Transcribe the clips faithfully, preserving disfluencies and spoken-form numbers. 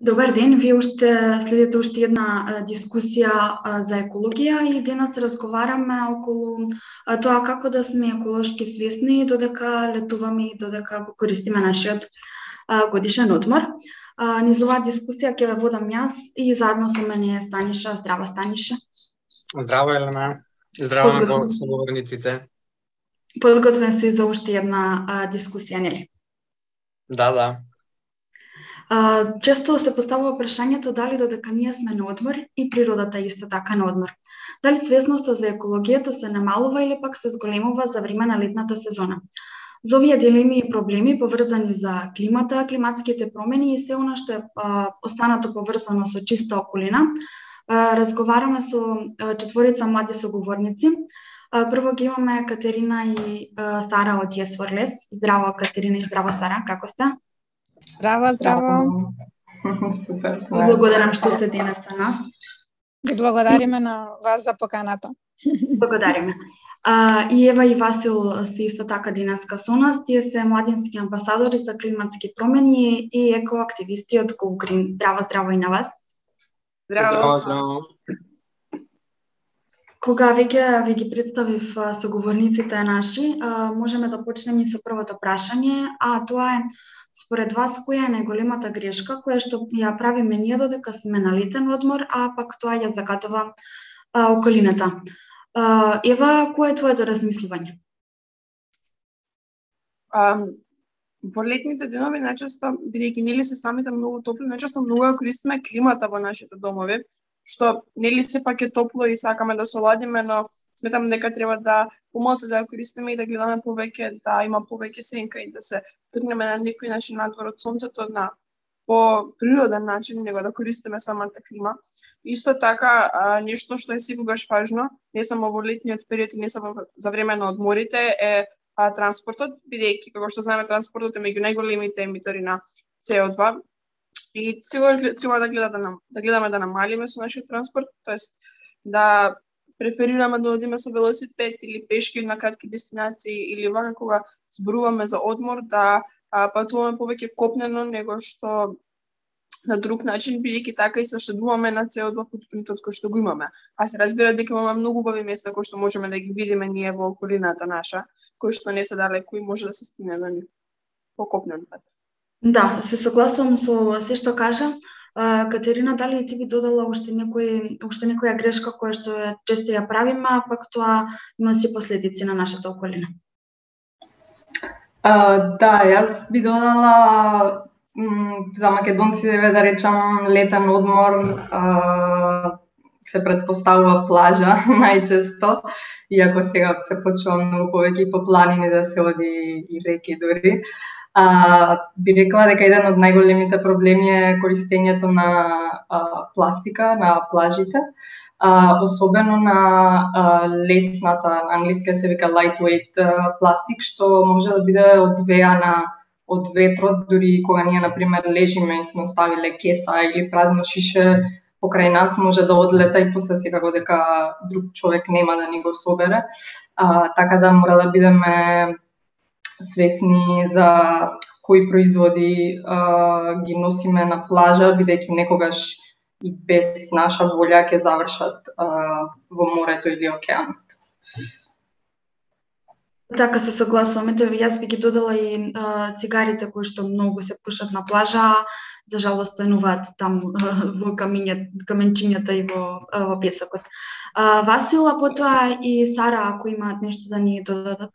Добар ден, вие уште следите уште една дискусија за екологија и денес разговараме околу тоа како да сме еколошки свесни додека летуваме и додека го користиме нашиот годишен одмор. Низ оваа дискусија ќе ве водам јас и заедно со мене е Станиша. Здраво, Станиша. Здраво, Елена. Здраво на соговорниците. Подготвен си за уште една дискусија, нели? Да, да. Uh, често се поставува прашањето дали додека ние сме на одмор и природата исто така на одмор. Дали свесноста за екологијата се намалува или пак се зголемува за време на летната сезона. За овие дилеми и проблеми поврзани за климата, климатските промени и се она што е uh, останато поврзано со чиста околина, uh, разговараме со uh, четворица млади соговорници. Uh, прво ги имаме Катерина и uh, Сара од Yes for Less. Здраво, Катерина, и здраво, Сара, како сте? Здраво, здраво. Супер, супер. Благодарам што сте денес со нас. Ви благодариме на вас за поканата. Благодариме. А, и Ева и Васил се исто така денеска со нас. Тие се младински амбасадори за климатски промени и екоактивисти од Go Green. Здраво, здраво и на вас. Здраво, здраво. здраво. Кога веќе ви ги представив соговорниците наши, а, можеме да почнеме со првото прашање, а тоа е: според вас, која е најголемата грешка која што ја правиме ние додека сме на летен одмор, а пак тоа ја загадува а, околината? А, Ева, кој е твоето размислување? А, во летните денови најчесто, бидејќи нели се самите многу топли, најчесто многу ја користиме климата во нашите домови, што нели сепак е топло и сакаме да се оладиме, но сметам дека треба да помалку да ја користиме и да гледаме повеќе, да има повеќе сенка и да се тргнеме на некој начин надвор од сонцето на по природен начин, него да користиме самата клима. Исто така, а, нешто што е секогаш важно, не само во летниот период и не само за време на одморите, е а, транспортот, бидејќи како што знаеме транспортот е меѓу најголемите емитори на С О два. И секогаш треба да гледа да, нам, да гледаме да намалиме со нашиот транспорт, тоест да преферираме да одиме со велосипед или пешки на кратки дестинации или вака кога зборуваме за одмор да а, патуваме повеќе копнено него што на друг начин, бидејќи така и се штедуваме на С О два футпринтот кој што го имаме. А се разбира дека имаме многу убави места кои што можеме да ги видиме ние во околината наша, кои што не се далеко и може да се стигне до нив по копнен пат. Да, се согласувам со се што кажа. Uh, Катерина, дали ти би додала уште некој уште некоја грешка која што често ја правиме, а пак тоа носи последици на нашата околина? Uh, да, јас би додала м, за македонците да речам летен одмор, uh, се предпоставува плажа најчесто, иако сега се почува многу повеќе и по планини да се оди и реки дури. А, би рекла дека еден од најголемите проблеми е користењето на а, пластика на плажите, а, особено на а, лесната, на англиски се вика lightweight а, пластик, што може да биде одвеана од ветрот, дури кога ние на пример лежиме и сме оставиле кеса или празно шише покрај нас, може да одлета и после секако дека друг човек нема да ни го собере. А, така да мора да бидеме свесни за кои производи а, ги носиме на плажа, бидејќи некогаш и без наша волја ќе завршат а, во морето или океанот. Така се согласувам. Ето, јас би ги додала и а, цигарите кои што многу се пушат на плажа, за жалост стануваат там а, во камиња, каменчињата и во, а, во песокот. А, Васил, а потоа и Сара, ако имаат нешто да ни додадат.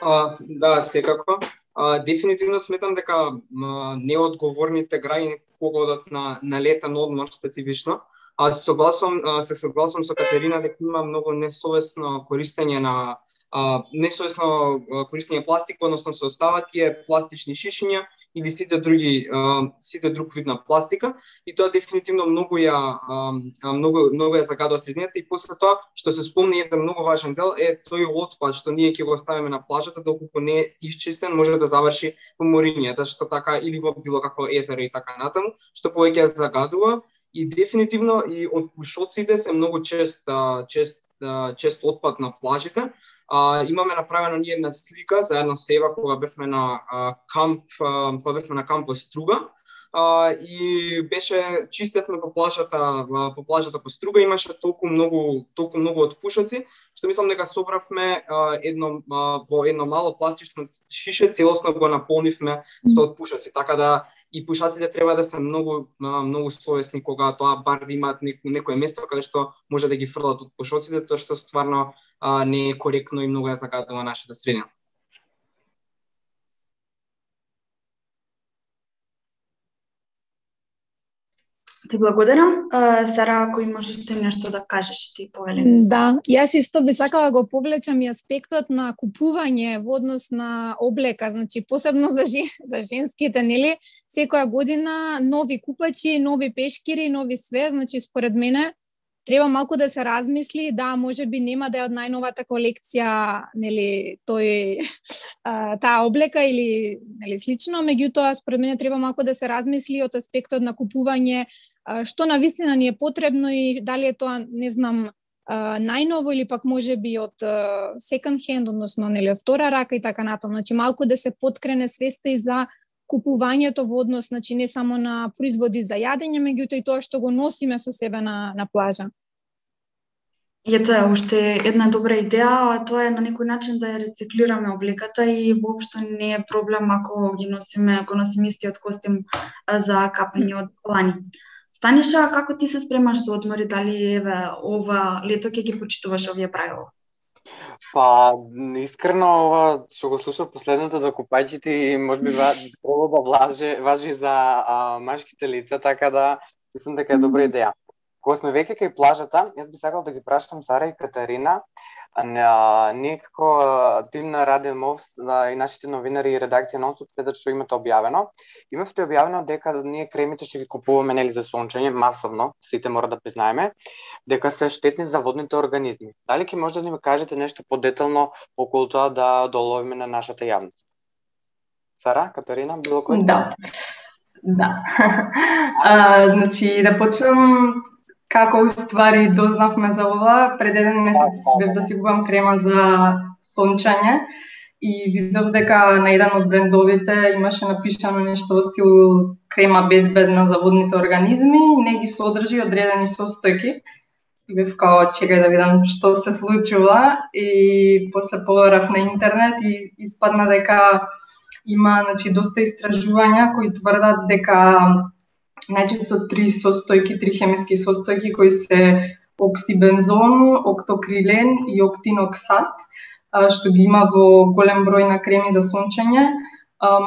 А, да, секако. А, дефинитивно сметам дека а, неодговорните граѓани кога одат на, на летен одмор специфично, а се согласувам, а, се согласувам со Катерина дека има многу несовесно користење на а, несовесно користење пластик, односно се остават тие пластични шишиња или сите други а, сите друг вид на пластика, и тоа дефинитивно многу ја а, многу многу ја загадува средината. И после тоа што се спомни еден многу важен дел е тој отпад што ние ќе го оставиме на плажата, доколку не е исчистен може да заврши во морињата, што така или во било какво езеро и така натаму, што повеќе ја загадува. И дефинитивно и од пушоците се многу чест чест чест отпад на плажите. А, имаме направено ние една слика заедно со Ева кога бевме на а, камп, а, кога бевме на камп во Струга. Uh, и беше чистевме по плажата, uh, по плажата по Струга, имаше толку многу, толку многу отпушоци, што мислам дека собравме uh, едно uh, во едно мало пластично шише, целосно го наполнивме со отпушоци, така да и пушаците треба да се многу uh, многу совесни кога тоа бар да имаат неко, некое место каде што може да ги фрлат отпушоците, тоа што стварно uh, не е коректно и многу ја загадува нашата средина. Ти благодарам. Сара, ако имаш уште нешто да кажеш, ти повели. Да, јас исто би сакала да го повлечам и аспектот на купување во однос на облека, значи посебно за жен, за женските, нели? Секоја година нови купачи, нови пешкири, нови све, значи според мене треба малку да се размисли, да, може би нема да е од најновата колекција, нели, тој таа облека или нели слично, меѓутоа според мене треба малку да се размисли од аспектот на купување што на вистина ни е потребно и дали е тоа, не знам, најново или пак може би од second hand, односно нели втора рака и така натаму. Значи малку да се поткрене свеста и за купувањето во однос, значи не само на производи за јадење, меѓутоа и тоа што го носиме со себе на на плажа. И ето е уште една добра идеја, а тоа е на некој начин да ја рециклираме облеката и воопшто не е проблем ако ги носиме, ако носиме истиот костим за капање од колани. Станиша, како ти се спремаш за одмори, дали еве ова лето ќе ги почитуваш овие правила? Па, искрено ова што го слушав последното за купајчите и можеби треба да влаже, важи за а, машките лица, така да мислам дека е добра идеја. Кога сме веќе кај плажата, јас би сакал да ги прашам Сара и Катарина. А, ние како тим на Радио Мов и нашите новинари и редакција Нонстоп следат што имате објавено. Имавте објавено дека ние кремите што ги купуваме нели за сончење масовно, сите мора да признаеме, дека се штетни за водните организми. Дали ќе може да ни кажете нешто подетално околу тоа да доловиме на нашата јавност? Сара, Катарина, било кој? Да. Да. а, значи да почнам како уствари дознавме за ова. Пред еден месец бев да си купам крема за сончање и видов дека на еден од брендовите имаше напишано нешто во стил крема безбедна за водните организми и не ги содржи одредени состојки. И бев као, чекај да видам што се случува и после побарав на интернет и испадна дека има, значи, доста истражувања кои тврдат дека најчесто три состојки, три хемиски состојки кои се оксибензон, октокрилен и октиноксат, што ги има во голем број на креми за сончење,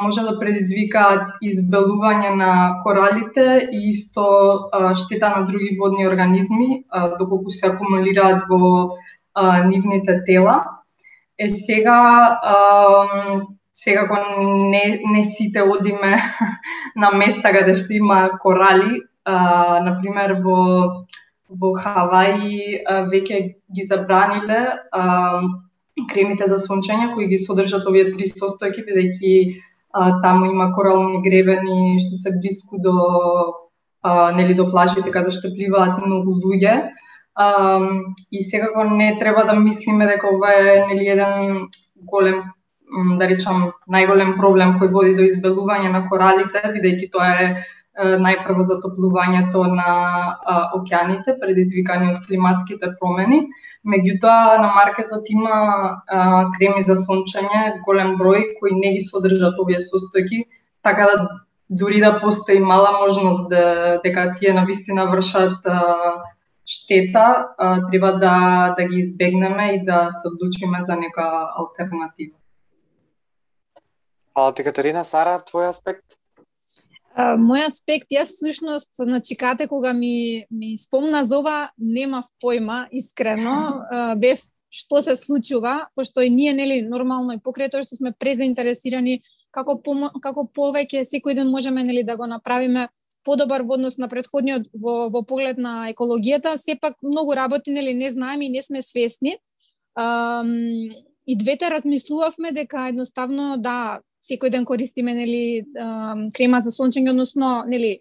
може да предизвикаат избелување на коралите и исто штета на други водни организми, доколку се акумулираат во нивните тела. Е сега Секако не, не сите одиме на места каде што има корали. А, например, во, во Хаваи а, веќе ги забраниле а, кремите за сончење кои ги содржат овие три состојки, бидејќи таму има корални гребени што се блиску до, а, нели, до плажите каде што пливаат многу луѓе. А, и секако не треба да мислиме дека ова е, нели, еден голем, да речам, најголем проблем кој води до избелување на коралите, бидејќи тоа е најпрво затоплувањето на а, океаните, предизвикани од климатските промени. Меѓутоа, на маркетот има а, креми за сончење, голем број, кои не ги содржат овие состојки, така да дури да постои мала можност да, дека тие навистина вршат а, штета, а, треба да, да ги избегнеме и да се одлучиме за нека алтернатива. Фала ти, Катарина. Сара, твој аспект? Uh, мој аспект, јас всушност, значи, кате кога ми, ми спомна за ова, немав појма, искрено, uh, бев што се случува, пошто и ние, нели, нормално и покрај тоа што сме презаинтересирани, како, помо, како повеќе секој ден можеме, нели, да го направиме подобар во однос на претходниот во, во поглед на екологијата, сепак многу работи, нели, не знаеме и не сме свесни. Um, и двете размислувавме дека едноставно, да, секој ден користиме, нели, крема за сончење, односно, нели,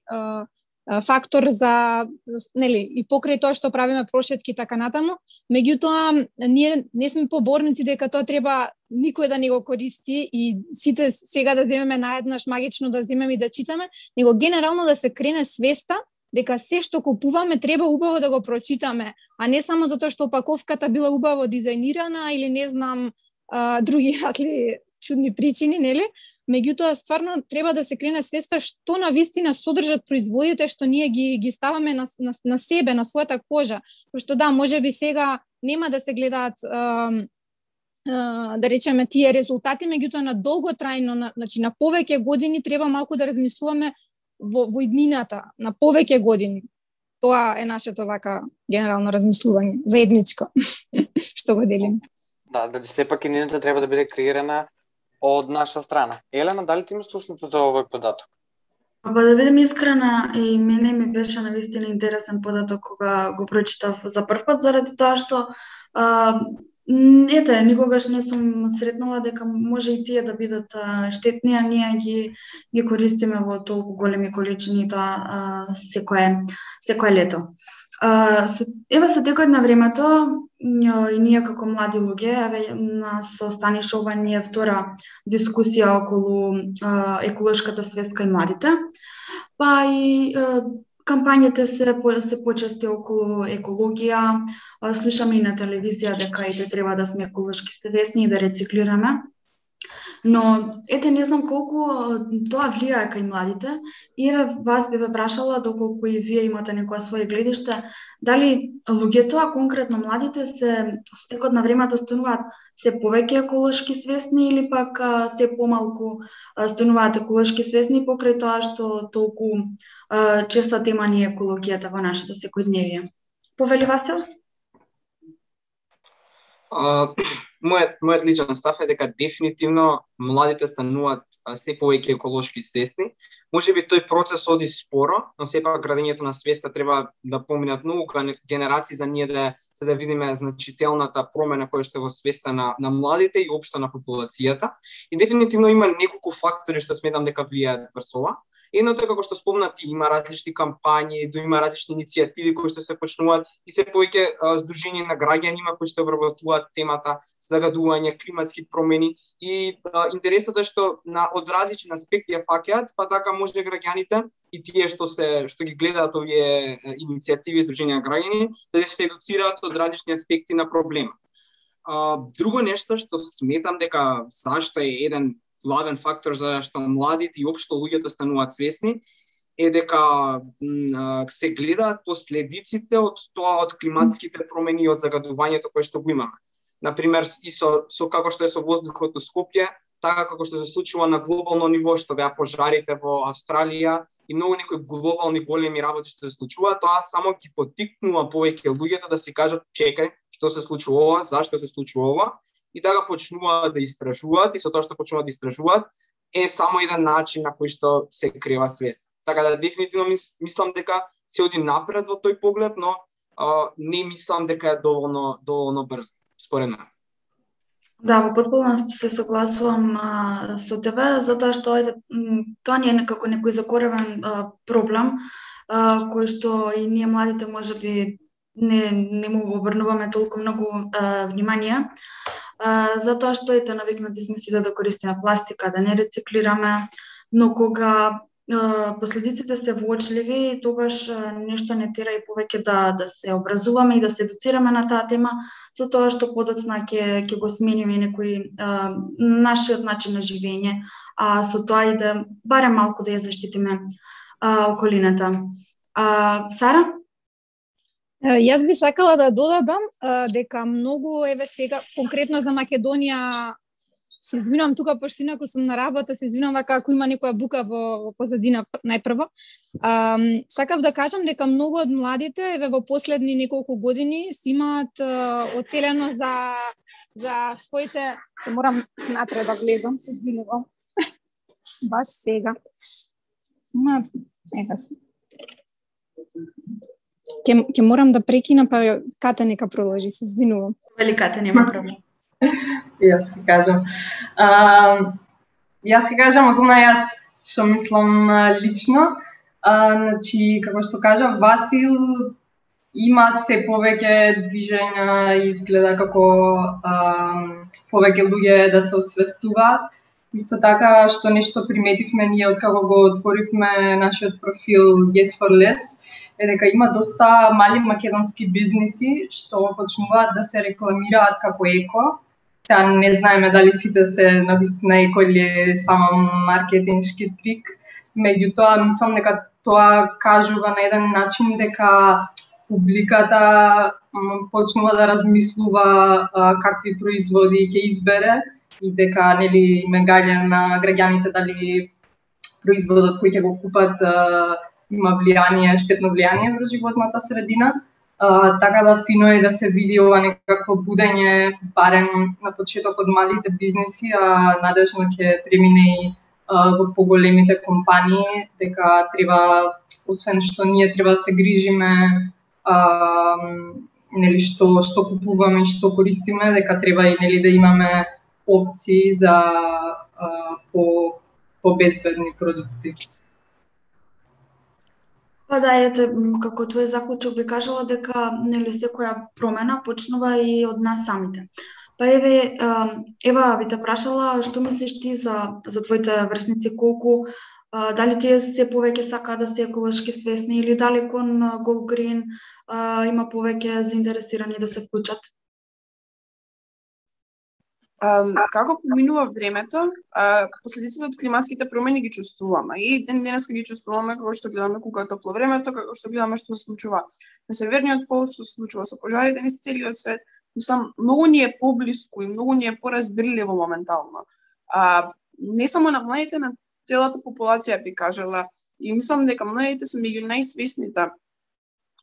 фактор за, нели, и покрај тоа што правиме прошетки така натаму, меѓутоа ние не сме поборници дека тоа треба никој да не го користи и сите сега да земеме наеднаш магично да земеме и да читаме, него генерално да се крене свеста дека се што купуваме треба убаво да го прочитаме, а не само затоа што опаковката била убаво дизајнирана или не знам а, други разли чудни причини, нели? Меѓутоа, стварно треба да се крене свеста што на вистина содржат производите што ние ги ги ставаме на, на, на себе, на својата кожа. Пошто да, можеби сега нема да се гледаат а, а, да речеме тие резултати, меѓутоа на долготрајно, на, значи на повеќе години треба малку да размислуваме во, во иднината, на повеќе години. Тоа е нашето вака генерално размислување, заедничко, што го делиме. Да, да сепак иднината треба да биде креирана од наша страна. Елена, дали ти имаш слушнато за овој податок? Па да бидем искрена, и мене ми беше навистина интересен податок кога го прочитав за прв пат, заради тоа што а, ете, никогаш не сум сретнала дека може и тие да бидат а, штетни, а ние ги ги користиме во толку големи количини тоа а, секое секое лето. А, со, еве со текот на времето и ние како млади луѓе, еве нас останеше ова ние втора дискусија околу а, еколошката свест кај младите. Па и а, кампањите се се почести околу екологија, а, слушаме и на телевизија дека ете треба да сме еколошки свесни и да рециклираме. Но ете не знам колку тоа влијае кај младите и еве вас би ве прашала доколку и вие имате некоја своје гледиште, дали луѓето, а конкретно младите, се со текот на времето стануваат се повеќе еколошки свесни или пак а, се помалку а, стануваат еколошки свесни покрај тоа што толку а, честа тема ни е екологијата во нашето секојдневие. Повели Васил? Uh, мојот мојот личен став е дека дефинитивно младите стануваат се повеќе еколошки свесни. Можеби тој процес оди споро, но сепак градењето на свеста треба да поминат многу генерации за ние да за да видиме значителната промена која што е во свеста на на младите и општо на популацијата. И дефинитивно има неколку фактори што сметам дека влијаат врз ова. Едното е како што спомнати, има различни кампањи, да има различни иницијативи кои што се почнуваат и се повеќе здружени на граѓани има кои што обработуваат темата загадување, климатски промени и а, интересното е што на од различни аспекти ја фаќаат, па така може граѓаните и тие што се што ги гледаат овие иницијативи здружени на граѓани да се едуцираат од различни аспекти на проблемот. А, друго нешто што сметам дека зашто е еден главен фактор за што младите и општо луѓето стануваат свесни е дека м, се гледаат последиците од тоа од климатските промени и од загадувањето кое што го имаме. Например, и со, со како што е со воздухот во Скопје, така како што се случува на глобално ниво, што беа пожарите во Австралија и многу некои глобални големи работи што се случува, тоа само ги поттикнува повеќе луѓето да си кажат чекај, што се случува ова, зашто се случува ова, и така почнуваат да истражуваат и со тоа што почнуваат да истражуваат е само еден начин на кој што се крива свест. Така да дефинитивно мис, мислам дека се оди напред во тој поглед, но а, не мислам дека е доволно доволно брзо според мене. Да, во потполност се согласувам а, со тебе, затоа што ете, тоа не е некако некој закоревен а, проблем, а, кој што и ние младите можеби не не му обрнуваме толку многу а, внимание. Uh, затоа што ете навикнати сме си да, да користиме пластика, да не рециклираме, но кога uh, последиците се воочливи, тогаш uh, нешто не тера и повеќе да да се образуваме и да се едуцираме на таа тема, затоа што подоцна ќе ќе го смениме некој uh, нашиот начин на живење, а со тоа и да барем малку да ја заштитиме uh, околината. Uh, Сара? Јас би сакала да додадам а, дека многу, еве сега, конкретно за Македонија, се извинувам тука, пошто инаку сум на работа, се извинувам вака ако има некоја бука во, во позадина најпрво. А, сакав да кажам дека многу од младите, еве во последни неколку години, си имаат а, оцелено за, за своите... Морам натре да влезам, се извинувам. Баш сега. Имаат... Ева се. Ке, ке морам да прекина, па Кате нека продолжи, се извинувам. Вели Кате, нема проблем. Јас ќе кажам. А, јас ќе кажам од она јас што мислам лично. А, значи, како што кажа Васил, има се повеќе движења и изгледа како а, повеќе луѓе да се освестуваат. Исто така, што нешто приметивме ние откако го отворивме нашиот профил Yes for Less, е дека има доста мали македонски бизниси што почнуваат да се рекламираат како еко. Сега не знаеме дали сите се навистина еко или е само маркетиншки трик. Меѓутоа, мислам дека тоа кажува на еден начин дека публиката почнува да размислува а, какви производи ќе избере и дека нели ме гаѓа на граѓаните дали производот кој ќе го купат а, има влијание, штетно влијание врз животната средина. А, така да фино е да се види ова некакво будење барем на почеток од малите бизнеси, а надежно ќе премине и а, во поголемите компании, дека треба, освен што ние треба да се грижиме а, нели што што купуваме и што користиме, дека треба и нели да имаме опции за а, по по безбедни продукти. Па да, ете, како твој заклучок би кажала дека нели секоја промена почнува и од нас самите. Па еве, Ева би те прашала што мислиш ти за за твоите врсници, колку дали тие се повеќе сакаат да се еколошки свесни или дали кон Go Green а, има повеќе заинтересирани да се вклучат? Um, како поминува времето, uh, последиците од климатските промени ги чувствуваме. И ден денеска ги чувствуваме како што гледаме кога е топло времето, како што гледаме што се случува на северниот пол, што се случува со пожарите низ целиот свет. Мислам, многу ни е поблиску и многу ни е поразбирливо моментално. Uh, не само на младите, на целата популација би кажала. И мислам дека младите се меѓу најсвесните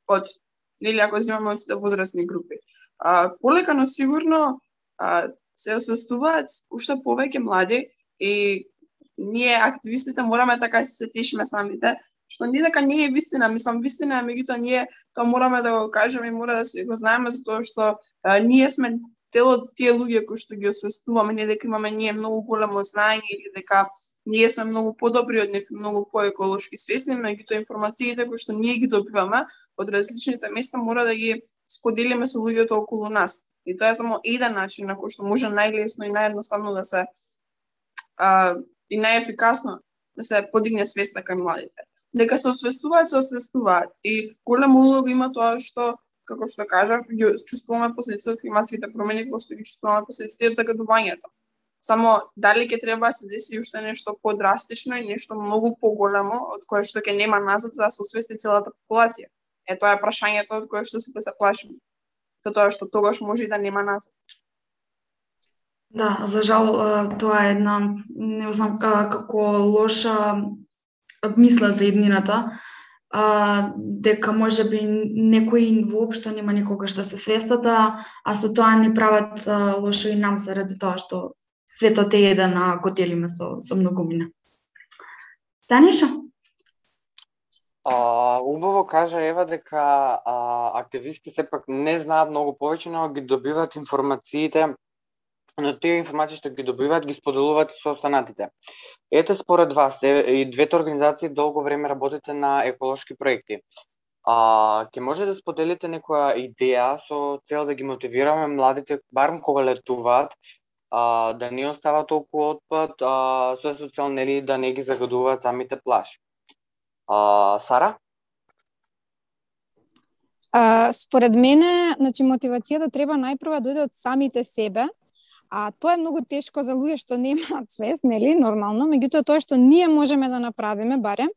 од, нели ако земаме од сите возрастни групи. Uh, полека, но сигурно uh, се освестуваат уште повеќе млади и ние активистите мораме така се тешиме самите, што не дека не е вистина, мислам вистина е, меѓутоа ние тоа мораме да го кажеме и мора да се го знаеме затоа што а, ние сме тело тие луѓе кои што ги освестуваме, не дека имаме ние многу големо знаење или дека ние сме многу подобри од нив, многу поеколошки свесни, меѓутоа информациите кои што ние ги добиваме од различните места мора да ги споделиме со луѓето околу нас. И тоа е само еден начин на кој што може најлесно и наједноставно да се а, и најефикасно да се подигне свеста кај младите. Дека се освестуваат, се освестуваат. И голема улога има тоа што, како што кажав, ги чувствуваме последиците од климатските промени, како што ги чувствуваме последиците од загадувањето. Само дали ќе треба да се деси уште нешто подрастично и нешто многу поголемо од кое што ќе нема назад за да се освести целата популација. Е тоа е прашањето од кое што сите се плашиме. Затоа што тогаш може и да нема назад. Да, за жал тоа е една, не знам како лоша мисла за еднината, дека може би некои воопшто нема никогаш да се свестат, а со тоа ни прават лошо и нам заради тоа што светот е еден, а го делиме со, со многумина. Таниша? А, убаво кажа Ева дека а, активисти сепак не знаат многу повеќе, но ги добиваат информациите, но тие информации што ги добиваат ги споделуваат со останатите. Ете според вас, и двете организации долго време работите на еколошки проекти. А, ќе може да споделите некоја идеја со цел да ги мотивираме младите, барем кога летуваат, а, да не остават толку отпад, а, со цел нели да не ги загадуваат самите плажи. А, Сара? А, според мене, значи мотивацијата треба најпрво да дојде од самите себе, а тоа е многу тешко за луѓе што немаат свест, нели, нормално, меѓутоа тоа што ние можеме да направиме барем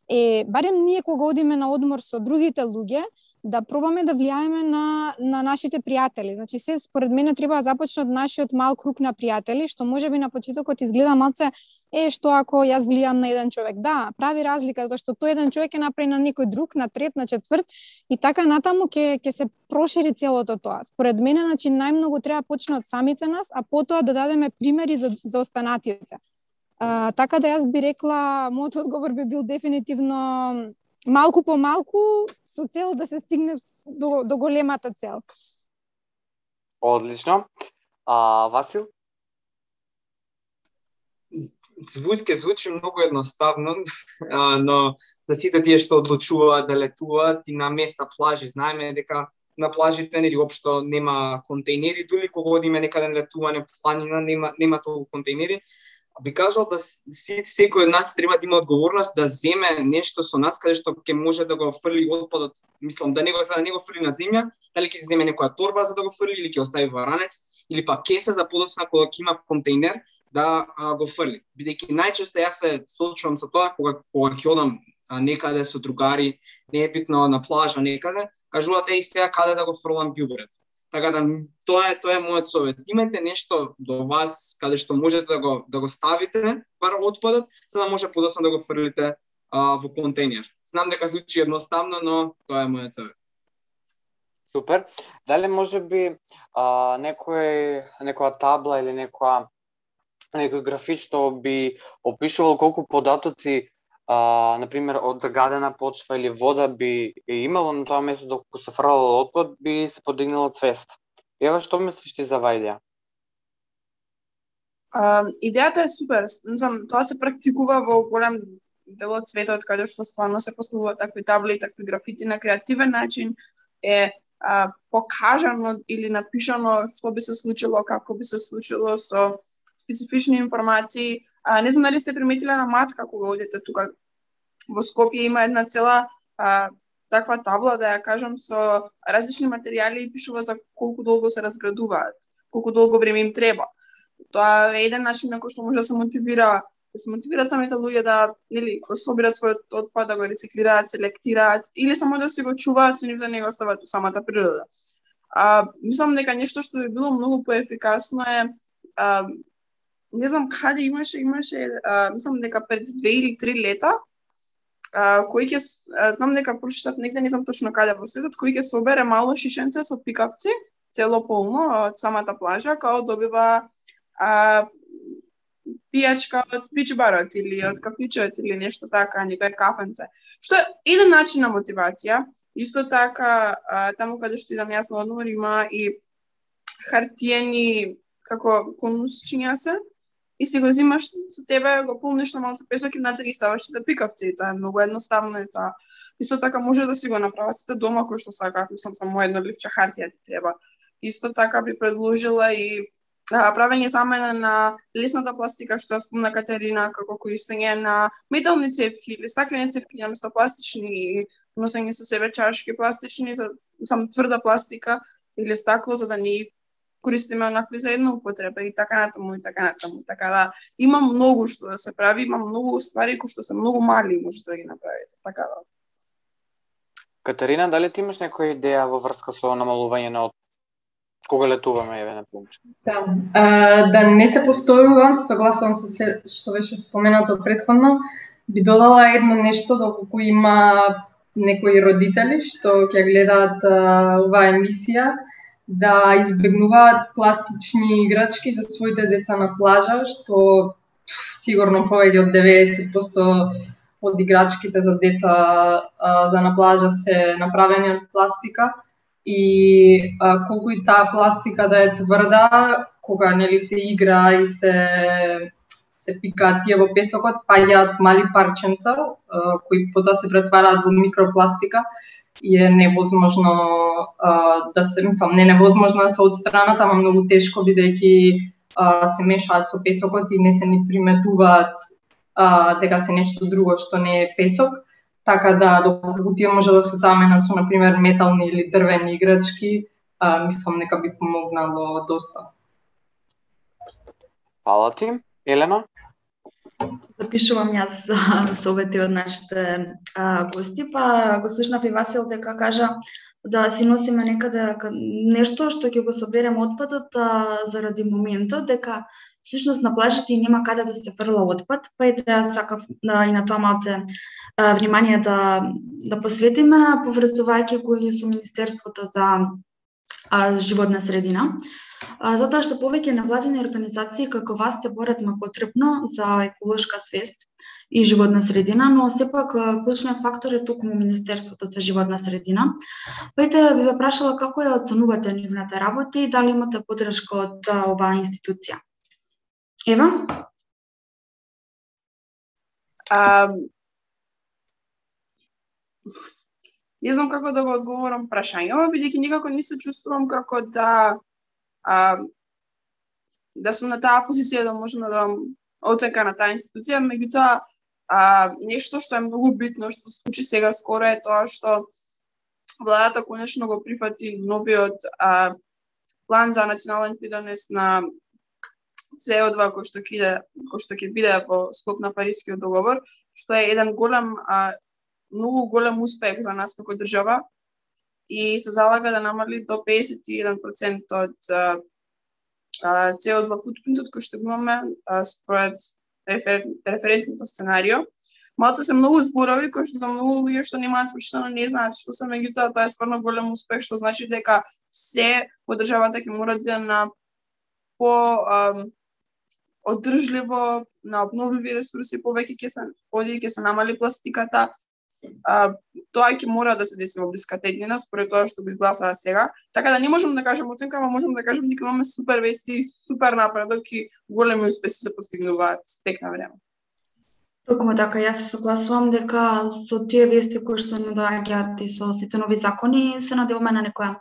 е барем ние кога одиме на одмор со другите луѓе да пробаме да влијаеме на на нашите пријатели. Значи се според мене треба да започне од нашиот мал круг на пријатели, што можеби на почетокот изгледа малце е што ако јас влијам на еден човек. Да, прави разлика затоа што тој еден човек ќе направи на некој друг, на трет, на четврт и така натаму ќе ќе се прошири целото тоа. Според мене, значи најмногу треба да почне од самите нас, а потоа да дадеме примери за за останатите. А, така да јас би рекла, мојот одговор би бил дефинитивно малку по малку со цел да се стигне до, до големата цел. Одлично. А, Васил? Звучи, звучи многу едноставно, но за сите тие што одлучуваат да летуваат и на места плажи, знаеме дека на плажите нели општо нема контейнери, дури кога одиме некаде на летување по планина нема нема толку контейнери. Би кажал да си, секој од нас треба да има одговорност да земе нешто со нас каде што ќе може да го фрли отпадот, мислам да не го за да не го фрли на земја, дали ќе земе некоја торба за да го фрли или ќе остави во ранец или па кеса за подоцна кога ќе има контейнер да а, го фрли. Бидејќи најчесто јас се случувам со тоа кога кога ќе одам а, некаде со другари, не е битно на плажа некаде, кажуваат е сега каде да го фрлам ѓубрето. Така да тоа е тоа е мојот совет. Имајте нешто до вас каде што можете да го да го ставите бар отпадот, за да може подоцна да го фрлите а, во контейнер. Знам дека звучи едноставно, но тоа е мојот совет. Супер. Дали може би а, некој некоја табла или некоја некој графит што би опишувал колку податоци а, на пример од загадена почва или вода би имало на тоа место доколку се фрлало отпад, би се подигнала свеста. Ева, што мислиш ти за оваа идеја? А, идејата е супер. Знам, тоа се практикува во голем дел од светот каде што стварно се поставуваат такви табли и такви графити на креативен начин, е а, покажано или напишано што би се случило, како би се случило со специфични информации. А, не знам дали сте приметиле на Матка кога одите тука во Скопје, има една цела а, таква табла, да ја кажам, со различни материјали и пишува за колку долго се разградуваат, колку долго време им треба. Тоа е еден начин на кој што може да се мотивира, да се мотивираат самите луѓе да, нели, го собираат својот отпад, да го рециклираат, селектираат или само да се го чуваат со нив, да не го остават во самата природа. А, мислам дека нешто што би било многу поефикасно е, а, не знам каде имаше, имаше, а, мислам дека пред две или три лета, а, кој ќе, знам дека прочитав негде, не знам точно каде во светот, кој ќе собере мало шишенце со пикавци, цело полно од самата плажа, као добива а, пијачка од пич-барот или од кафичот или нешто така, некој кафенце. Што е еден начин на мотивација. Исто така, а, таму каде што идам јас на одмор има и хартиени како конусчиња се, и си го зимаш со тебе, го полниш на малце песок и внатре ги ставаш да пикавци. Тоа е многу едноставно и тоа. Исто така може да си го направат сите дома кој што сакаат, мислам само едно ливче хартија ти треба. Исто така би предложила и а, правење замена на лесната пластика што ја спомна Катерина, како користење на метални цевки или стаклени цевки наместо пластични и носење со себе чашки пластични, за сам тврда пластика или стакло за да не користиме онакви за една употреба и така натаму и така натаму. Така да има многу што да се прави, има многу ствари кои што се многу мали и можете да ги направите. Така да. Катерина, дали ти имаш некоја идеја во врска со намалување на отпад? Кога летуваме, еве, на пример? Да, а, да не се повторувам, се согласувам со се што беше споменато претходно, би додала едно нешто доколку има некои родители што ќе гледаат а, оваа емисија, да избегнуваат пластични играчки за своите деца на плажа, што сигурно повеќе од деветдесет проценти од играчките за деца а, за на плажа се направени од пластика. И а, колку и таа пластика да е тврда, кога нели се игра и се се пикаат тие во песокот, паѓаат мали парченца а, кои потоа се претвараат во микропластика и е невозможно а, да се, мислам, не невозможно да се отстранат, ама многу тешко бидејќи а, се мешаат со песокот и не се ни приметуваат а, дека се нешто друго што не е песок. Така да, доколку тие може да се заменат со, например, метални или дрвени играчки, а, мислам дека би помогнало доста. Фала ти. Елена? Запишувам јас совети од нашите а, гости, па го слушнав и Васил дека кажа да си носиме некаде нешто што ќе го соберем отпадот а, заради моментот, дека всушност на плажите и нема каде да се фрла отпад, па ете јас сакав а, и на тоа малце а, внимание да, да посветиме, поврзувајќи го и со Министерството за а, животна средина. А, затоа што повеќе невладини организации како вас се борат макотрпно за еколошка свест и животна средина, но сепак клучниот фактор е токму Министерството за животна средина. Пајте би ве прашала како ја оценувате нивната работа и дали имате поддршка од оваа институција. Ева? А, не знам како да го одговорам прашањето, бидејќи никако не се чувствувам како да а, да сум на таа позиција да можам да дадам оценка на таа институција, меѓутоа а, нешто што е многу битно што се случи сега скоро е тоа што владата конечно го прифати новиот а, план за национален придонес на С О два кој што ќе кој што ќе биде во склоп на Парискиот договор, што е еден голем а, многу голем успех за нас како држава и се залага да намали до педесет и еден проценти од а, а, С О два футпринтот кој што имаме а, според рефер, референтното сценарио. Малце се многу зборови кои што за многу луѓе што немаат прочитано не знаат што се, меѓутоа тоа е стварно голем успех, што значи дека се во државата ќе мора да на по а, одржливо на обновливи ресурси, повеќе ќе се оди ќе се намали пластиката. А, тоа ќе мора да се деси во блиска теднина според тоа што го изгласува сега. Така да не можам да кажам оценка, но можам да кажам дека имаме супер вести и супер напредок и големи успеси се постигнуваат тек на време. Токму така, јас се согласувам дека со тие вести кои што не доаѓаат и со сите нови закони се надеваме на некоја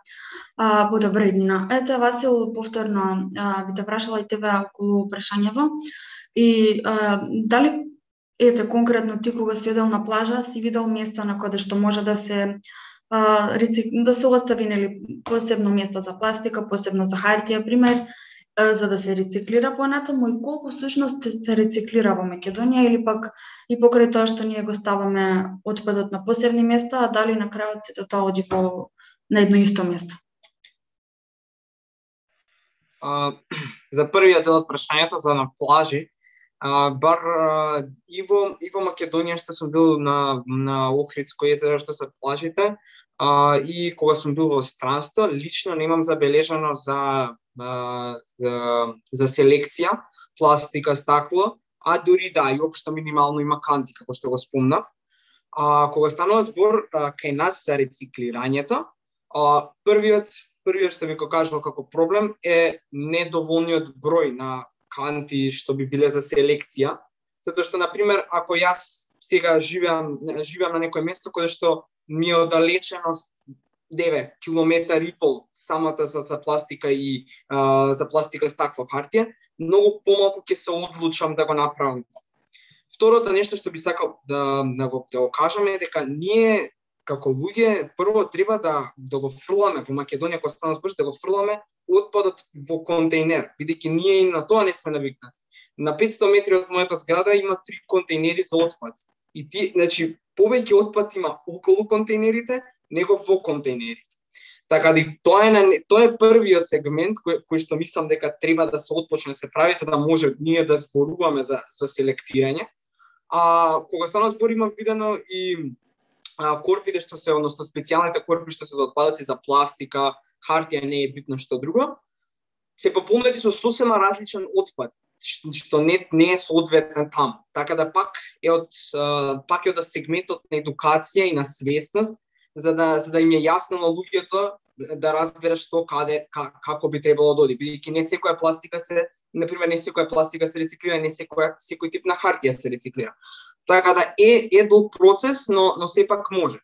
а, подобра иднина. Ете, Васил, повторно а, би те прашала и тебе околу прашањето и а, дали ете конкретно ти кога си одел на плажа си видел места на каде што може да се а, рецик... да се остави нели посебно место за пластика, посебно за хартија, пример, за да се рециклира понатаму и колку всушност се рециклира во Македонија или пак и покрај тоа што ние го ставаме отпадот на посебни места, а дали на крајот сето тоа оди по на едно исто место? А, за првиот дел од прашањето за на плажи, а, бар а, и во и во Македонија што сум бил на на Охридско езеро што се плажите, а, и кога сум бил во странство, лично немам забележано за За, за селекција, пластика, стакло, а дури да, и општо минимално има канти, како што го спомнав. А, кога станува збор а, кај нас за рециклирањето, а, првиот, првиот што би го кажал како проблем е недоволниот број на канти што би биле за селекција, затоа што, например, ако јас сега живеам, живеам на некој место кое што ми е оддалечено девет километри и пол самата за, за пластика и а, за пластика, стакло, хартија, многу помалку ќе се одлучам да го направам. Второто нешто што би сакал да, да, го, да го кажам е дека ние како луѓе прво треба да да го фрламе во Македонија, кога стана збор, да го фрламе отпадот во контејнер, бидејќи ние и на тоа не сме навикнати. На петсто метри од мојата зграда има три контејнери за отпад. И ти, значи, повеќе отпад има околу контејнерите него во контејнерите. Така да тоа е тоа е првиот сегмент кој, кој што мислам дека треба да се отпочне да се прави за да може ние да зборуваме за за селектирање. А кога стана збор имам видено и а, корпите што се, односно специјалните корпи што се за отпадоци за пластика, хартија, не е битно што друго, се пополнети со сосема различен отпад што не не е соодветен таму. Така да пак е од пак е од сегментот на едукација и на свесност, за да за да им е јасно на луѓето да разберат што каде как, како би требало да оди, бидејќи не секоја пластика се, например, не секоја пластика се рециклира, не секоја секој тип на хартија се рециклира. Така да е е долг процес, но но сепак може.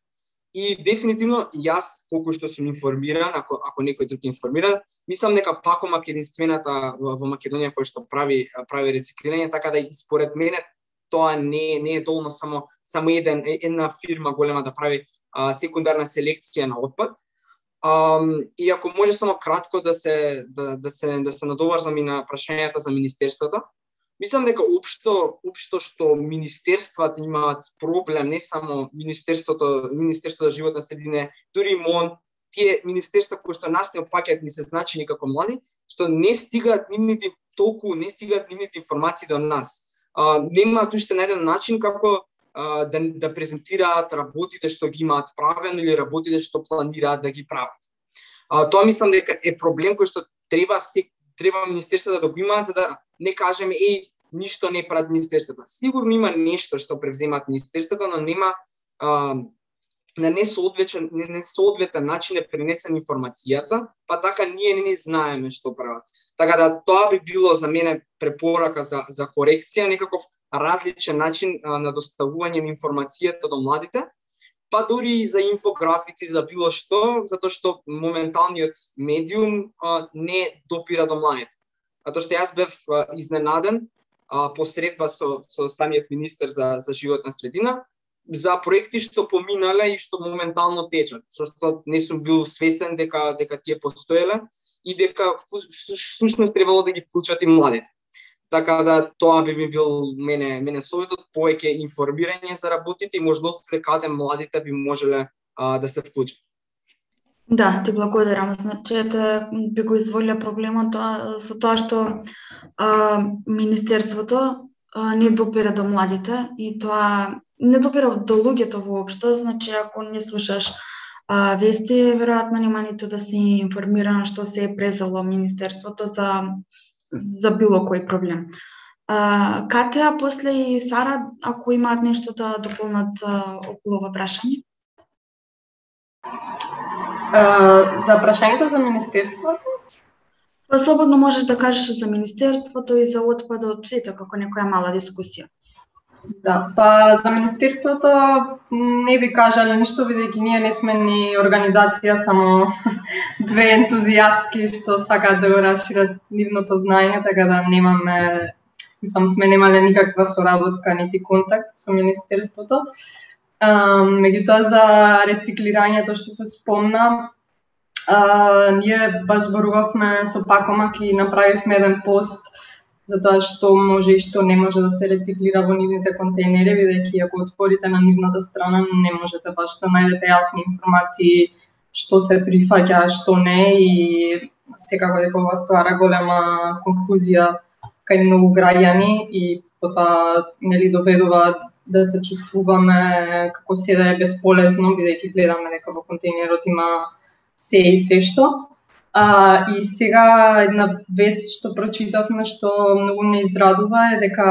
И дефинитивно јас колку што сум информиран, ако ако некој друг информиран, мислам дека Пакомак е единствената во, во Македонија која што прави прави рециклирање, така да и според мене тоа не не е доволно само само еден една фирма голема да прави а, секундарна селекција на отпад. Um, и ако може само кратко да се да, да се да се надоврзам и на прашањето за министерството, мислам дека општо општо што министерствата имаат проблем, не само министерството, министерството за животна средина, дури МОН, тие министерства кои што нас не опфаќаат ни се значени како млади, што не стигаат нивните толку не стигаат нивните информации до нас. А, немаат уште најден начин како да, да презентираат работите што ги имаат правено или работите што планираат да ги прават. А, тоа мислам дека е проблем кој што треба се треба министерството да го имаат, за да не кажеме еј ништо не прават министерството. Сигурно има нешто што превземаат министерството, но нема а, на несоодветен несоодветен начин е пренесена информацијата, па така ние не ни знаеме што прават. Така да тоа би било за мене препорака за за корекција, некаков различен начин а, на доставување на информацијата до младите, па дури и за инфографици, за било што, затоа што моменталниот медиум а, не допира до младите. Затоа што јас бев а, изненаден а, посредба со со самиот министер за за животна средина за проекти што поминале и што моментално течат, со што не сум бил свесен дека дека тие постоеле и дека всушност требало да ги вклучат и младите. Така да тоа би ми бил мене мене советот, повеќе информирање за работите и можностите каде младите би можеле а, да се вклучат. Да, ти благодарам. Значи, ете, би го изволила проблемот тоа, со тоа што а, Министерството а, не допира до младите и тоа не допира до луѓето воопшто. Значи, ако не слушаш а, вести, веројатно нема ниту да си информирана што се е презало Министерството за за било кој проблем. А, Катја, после и Сара, ако имаат нешто да дополнат а, околу ова прашање? Uh, за прашањето за Министерството? Па слободно можеш да кажеш за Министерството и за отпадот, ето како некоја мала дискусија. Да, па за Министерството не би кажале ништо, бидејќи ние не сме ни организација, само две ентузијастки што сакаат да го расшират нивното знаење, така да немаме, мислам, сме немале никаква соработка нити контакт со Министерството. Uh, меѓутоа за рециклирањето што се спомна, uh, ние баш зборувавме со Пакомак и направивме еден пост за тоа што може и што не може да се рециклира во нивните контейнери, бидејќи ако отворите на нивната страна не можете баш да најдете јасни информации што се прифаќа, што не, и секако дека ова ствара голема конфузија кај многу граѓани и потоа нели доведува да се чувствуваме како се да е бесполезно, бидејќи гледаме дека во контейнерот има се и се што. А, и сега една вест што прочитавме што многу не израдува е дека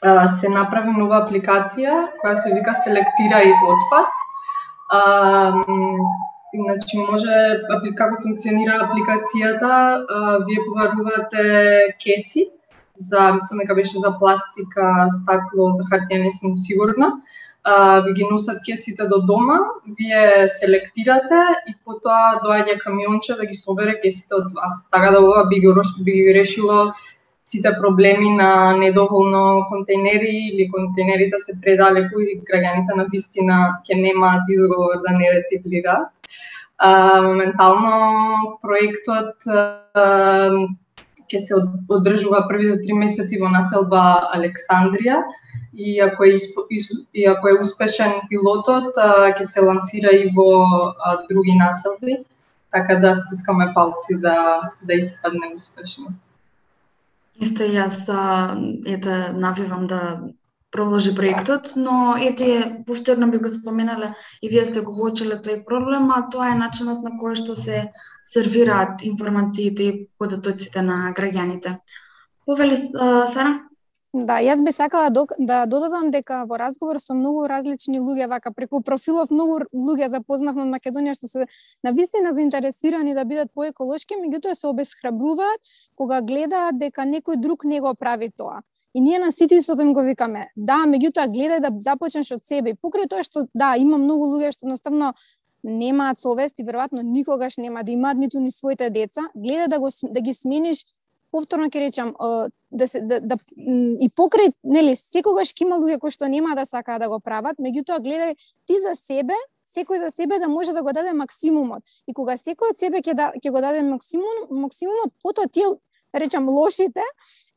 а, се направи нова апликација која се вика Селектирај отпад. А, значи може како функционира апликацијата, а, вие побарувате кеси за, мислам дека беше за пластика, стакло, за хартија не сум сигурна. Uh, ви ги носат кесите до дома, вие селектирате и потоа доаѓа камионче да ги собере кесите од вас. Така да ова би ги, би ги решило сите проблеми на недоволно контейнери или контейнерите се предалеку и граѓаните на вистина ќе немаат изговор да не рециклираат. Uh, моментално проектот uh, ќе се одржува првите три месеци во населба Александрија и ако е испо, и ако е успешен пилотот, ќе се лансира и во а, други населби, така да стискаме палци да да испадне успешно. Исто и јас ете навивам да продолжи проектот, но ете повторно би го споменале и вие сте го воочиле тој проблем, а тоа е начинот на кој што се сервираат информациите и податоците на граѓаните. Повели Сара? Да, јас би сакала да додадам дека во разговор со многу различни луѓе, вака преку профилов многу луѓе запознавме од Македонија што се навистина заинтересирани да бидат поеколошки, меѓутоа се обесхрабруваат кога гледаат дека некој друг не го прави тоа. И ние на сите истото им го викаме, да, меѓутоа гледај да започнеш од себе. Покрај тоа што да, има многу луѓе што едноставно немаат совест и веројатно никогаш нема да имаат ниту ни своите деца, гледај да го да ги смениш. Повторно ќе речам, да се да, да и покрај, нели, секогаш ќе има луѓе кои што нема да сакаат да го прават, меѓутоа гледај ти за себе, секој за себе да може да го даде максимумот. И кога секој од себе ќе да ќе го даде максимум, максимумот, потоа тие, речам, лошите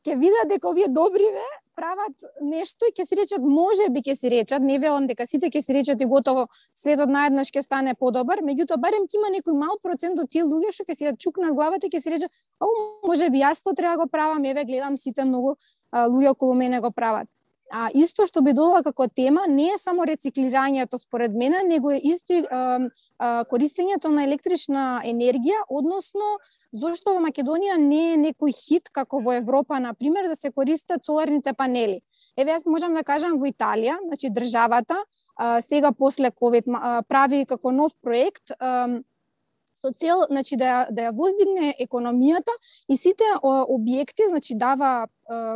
ќе видат дека овие добриве прават нешто и ќе си речат, може би ќе си речат, не велам дека сите ќе си речат и готово светот наеднаш ќе стане подобар, меѓутоа барем ќе има некој мал процент од тие луѓе што ќе си ја чукнат главата и ќе си речат, о, може би јас тоа треба да го правам, еве гледам сите многу а, луѓе околу мене го прават. А исто што би додала како тема не е само рециклирањето според мене, него е исто и а, а, користењето на електрична енергија, односно зошто во Македонија не е некој хит како во Европа, на пример, да се користат соларните панели. Еве јас можам да кажам во Италија, значи државата сега после ковид прави како нов проект со цел, значи, да, да ја воздигне економијата и сите објекти, значи, дава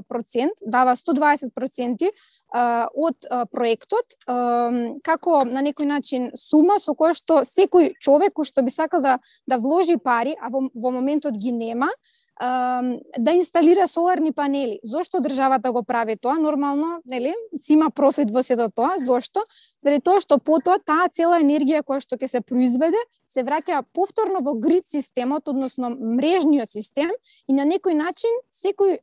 процент, дава сто дваесет проценти од проектот, како на некој начин сума со која што секој човек кој што би сакал да, да вложи пари, а во, во моментот ги нема, да инсталира соларни панели. Зошто државата го прави тоа? Нормално, нели, си има профит во сето тоа. Зошто? Заради тоа што потоа таа цела енергија која што ќе се произведе се враќа повторно во грид системот, односно мрежниот систем, и на некој начин секој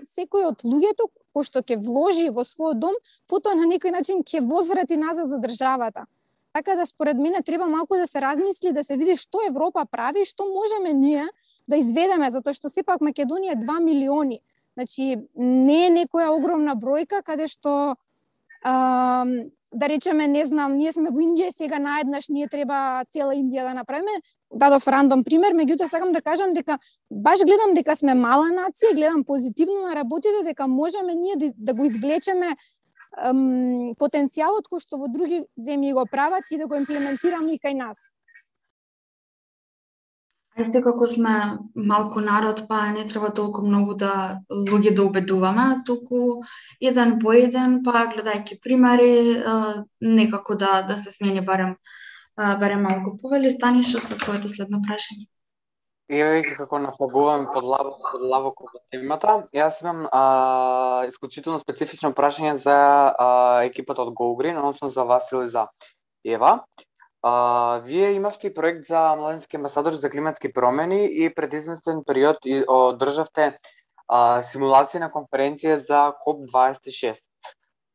секој од луѓето кој што ќе вложи во својот дом, потоа на некој начин ќе возврати назад за државата. Така да според мене треба малку да се размисли, да се види што Европа прави, што можеме ние да изведеме, затоа што сепак Македонија е два милиони. Значи, не е некоја огромна бројка, каде што, а, да речеме, не знам, ние сме во Индија, сега наеднаш ние треба цела Индија да направиме. Дадов рандом пример, меѓутоа сакам да кажам дека баш гледам дека сме мала нација, гледам позитивно на работите, дека можеме ние да, да го извлечеме ем, потенцијалот кој што во други земји го прават и да го имплементираме и кај нас. А секако сме малку народ, па не треба толку многу да луѓе да убедуваме, туку еден по еден, па гледајќи примери, некако да да се смени барем барем малку. Повели Станиша со твоето следно прашање. Еве како нафагуваме подлабоко подлабоко по темата, јас имам а, исклучително специфично прашање за а, екипата од GoGreen, односно за Васил и за Ева. А, вие имавте проект за младински амбасадори за климатски промени и пред известен период одржавте а, симулација на конференција за коп дваесет и шест.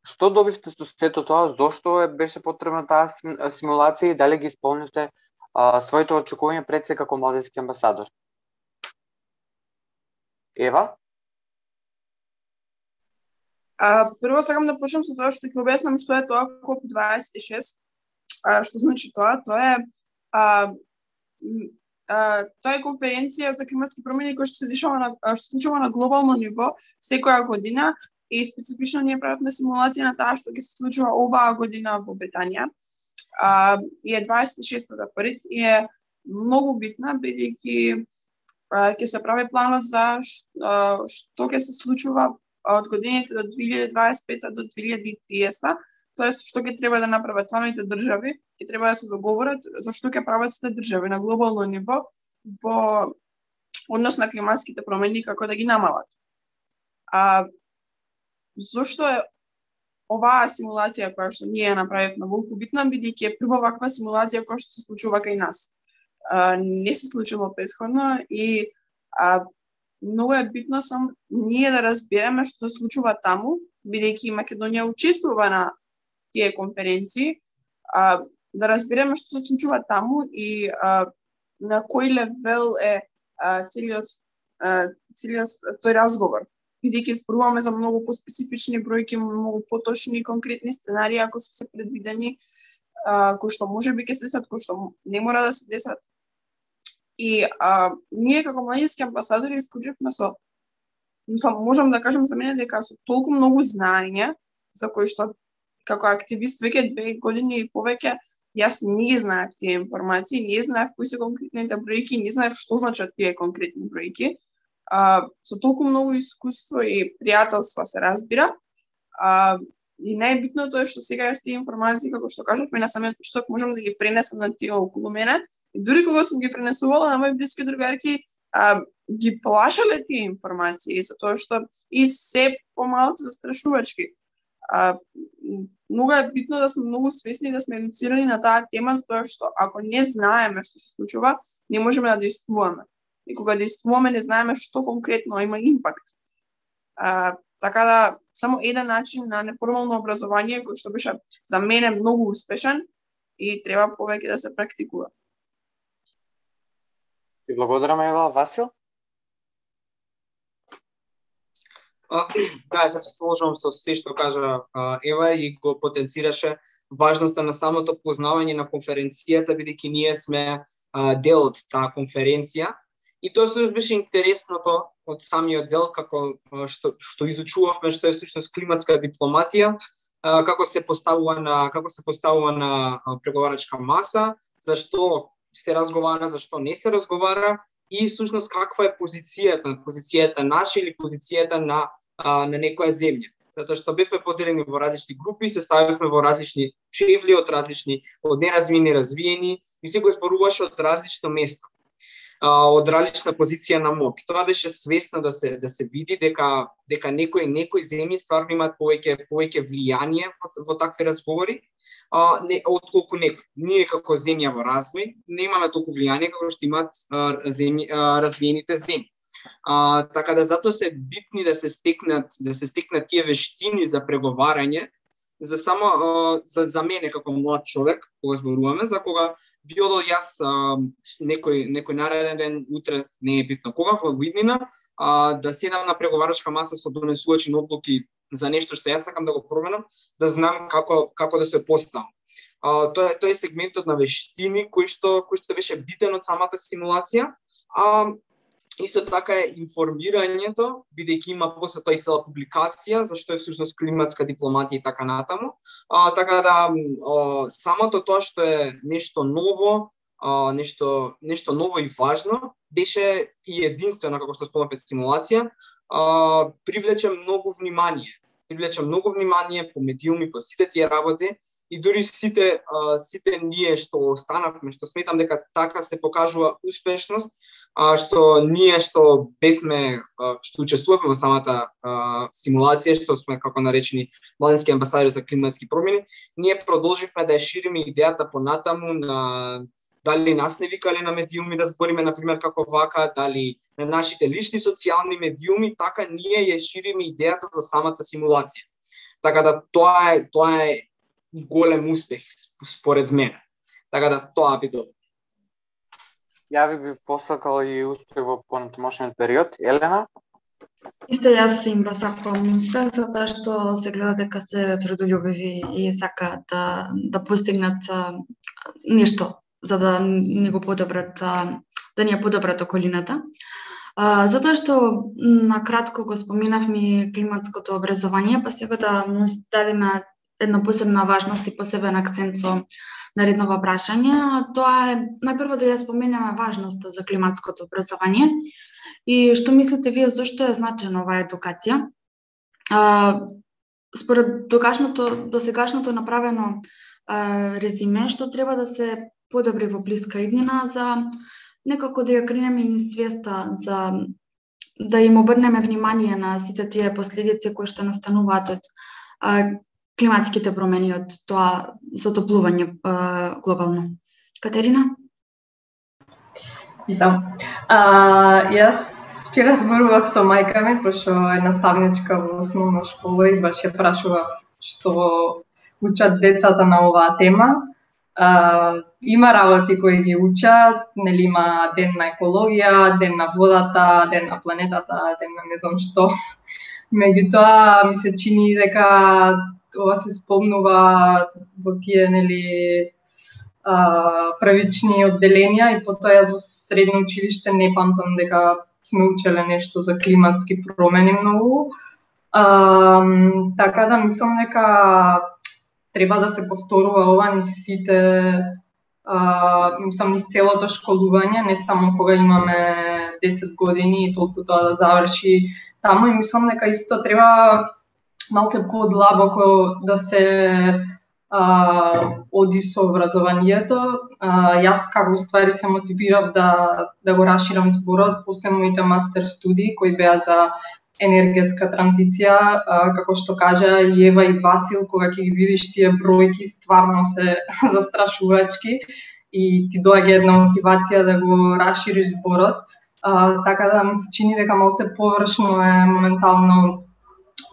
Што добивте со сето тоа? Зошто е беше потребна таа симулација и дали ги исполнивте а, своите очекувања пред се како младински амбасадор? Ева? А, прво сакам да почнам со тоа што ќе објаснам што е тоа коп дваесет и шест. А, што значи тоа? Тоа е а, а, тоа е конференција за климатски промени која што се дешава на што се случува на глобално ниво секоја година и специфично ние правиме симулација на таа што ќе се случува оваа година во Британија. А, и е дваесет и шестата пред и е многу битна бидејќи ќе се прави планот за што, што ќе се случува од годините до две илјади дваесет и пета до две илјади и триесета. Тоест, што ќе треба да направат самите држави, ќе треба да се договорат за што ќе прават сите држави на глобално ниво во однос на климатските промени, како да ги намалат. А зошто е оваа симулација која што ние направивме волку битна, бидејќи е прва ваква симулација која што се случува кај нас. А, не се случило претходно и а, многу е битно сам ние да разбереме што се случува таму, бидејќи Македонија учествува на тие конференции, а, да разбереме што се случува таму и а, на кој левел е а, целиот, а, целиот тој разговор. Бидејќи зборуваме за многу поспецифични бројки, многу поточни конкретни сценарии ако се предвидени, а, кои што можеби ќе се десат, кои што не мора да се десат. И а, ние како младински амбасадори исклучивме со, со можам да кажам за мене дека со толку многу знаење за кои што како активист веќе две години и повеќе јас не ги знаев тие информации, не знаев кои се конкретните бројки, не знаев што значат тие конкретни бројки. А, со толку многу искуство и пријателство се разбира. А, и најбитното е што сега јас тие информации, како што кажавме на самиот почеток, можам да ги пренесам на тие околу мене. И дури кога сум ги пренесувала на мои блиски другарки, а, ги плашале тие информации, затоа што и се помалку застрашувачки. А, многу е битно да сме многу свесни, да сме едуцирани на таа тема, затоа што ако не знаеме што се случува, не можеме да действуваме. И кога действуваме, не знаеме што конкретно има импакт. А, така да, само еден начин на неформално образование, кој што беше за мене многу успешен и треба повеќе да се практикува. Ти благодарам, Ева. Васил? А, да, се сложувам со се што кажа а, Ева и го потенцираше важноста на самото познавање на конференцијата, бидејќи ние сме а, дел од таа конференција. И тоа што беше интересното од самиот дел, како што, што изучувавме, што е всушност климатска дипломатија, како се поставува на како се поставува на преговарачка маса, зашто се разговара, зашто не се разговара и всушност каква е позицијата, позицијата наша или позицијата на на некоја земја. Затоа што бевме поделени во различни групи, се ставивме во различни чевли од различни, од неразвиени, развиени и секој зборуваше од различно место, од различна позиција на моќ. Тоа беше свесно да се да се види дека дека некои некои земји стварно имаат повеќе повеќе влијание во, во такви разговори, а не отколку некои. Ние како земја во развој не имаме толку влијание како што имаат земји, развиените земји. А, така да затоа се битни да се стекнат да се стекнат тие вештини за преговарање, за само а, за за мене како млад човек, кога зборуваме, за кога би одел јас а, некој некој нареден ден, утре, не е битно кога, во иднина, а, да седам на преговарачка маса со донесувачи на одлуки за нешто што јас сакам да го променам, да знам како како да се поставам. А, тоа е тоа е сегментот на вештини кој што кој што беше битен од самата симулација. А исто така е информирањето, бидејќи има после тоа и цела публикација, зашто е всушност климатска дипломатија и така натаму. А, така да а, самото тоа што е нешто ново, а, нешто нешто ново и важно, беше и единствено како што спомнавме симулација, а, привлече многу внимание. Привлече многу внимание по медиуми, по сите тие работи. И дури сите а, сите ние што останавме, што сметам дека така се покажува успешност, а, што ние што бевме, а, што учествувавме во самата а, симулација, што сме како наречени младински амбасадори за климатски промени, ние продолживме да ја шириме идејата понатаму на дали нас не викале на медиуми да збориме на пример како вака, дали на нашите лични социјални медиуми, така ние ја шириме идејата за самата симулација. Така да тоа е тоа е голем успех според мене. Така да тоа би добро. Ја ви би посакала и успех во понатамошниот период. Елена? Исто јас им посакувам успех, затоа што се гледа дека се трудолюбиви и сакаат да, да постигнат а, нешто за да ни го подобрат, а, да ни ја подобрат околината. А, затоа што на кратко го споменавме климатското образование, па сега да му дадеме една посебна важност и посебен акцент со наредното прашање. Тоа е најпрво да ја споменеме важноста за климатското образование и што мислите вие зошто е значена оваа едукација? А, според догашното досегашното направено а, резиме, што треба да се подобри во блиска иднина за некако да ја кренеме и свеста за да им обрнеме внимание на сите тие последици кои што настануваат од а, климатските промени, од тоа затоплување а, глобално. Катерина? Да. А, јас вчера зборував со мајка ми, пошто е наставничка во основна школа и баш ја прашував што учат децата на оваа тема. А, има работи кои ги учат, нели има ден на екологија, ден на водата, ден на планетата, ден на не знам што. Меѓутоа ми се чини дека ова се спомнува во тие нели а, првични одделенија и потоа јас во средно училиште не памтам дека сме учеле нешто за климатски промени многу. А, така да мислам дека треба да се повторува ова низ сите, а, мислам низ целото школување, не само кога имаме десет години и толку тоа да заврши таму, и мислам дека исто треба малце подлабоко да се а, оди со образованието. А, јас како ствари се мотивирав да да го расширам зборот, после моите мастер студии кои беа за енергетска транзиција, а, како што кажа и Ева и Васил, кога ќе ги видиш тие бројки, стварно се застрашувачки и ти доаѓа една мотивација да го расшириш зборот. А, така да ми се чини дека малце површно е моментално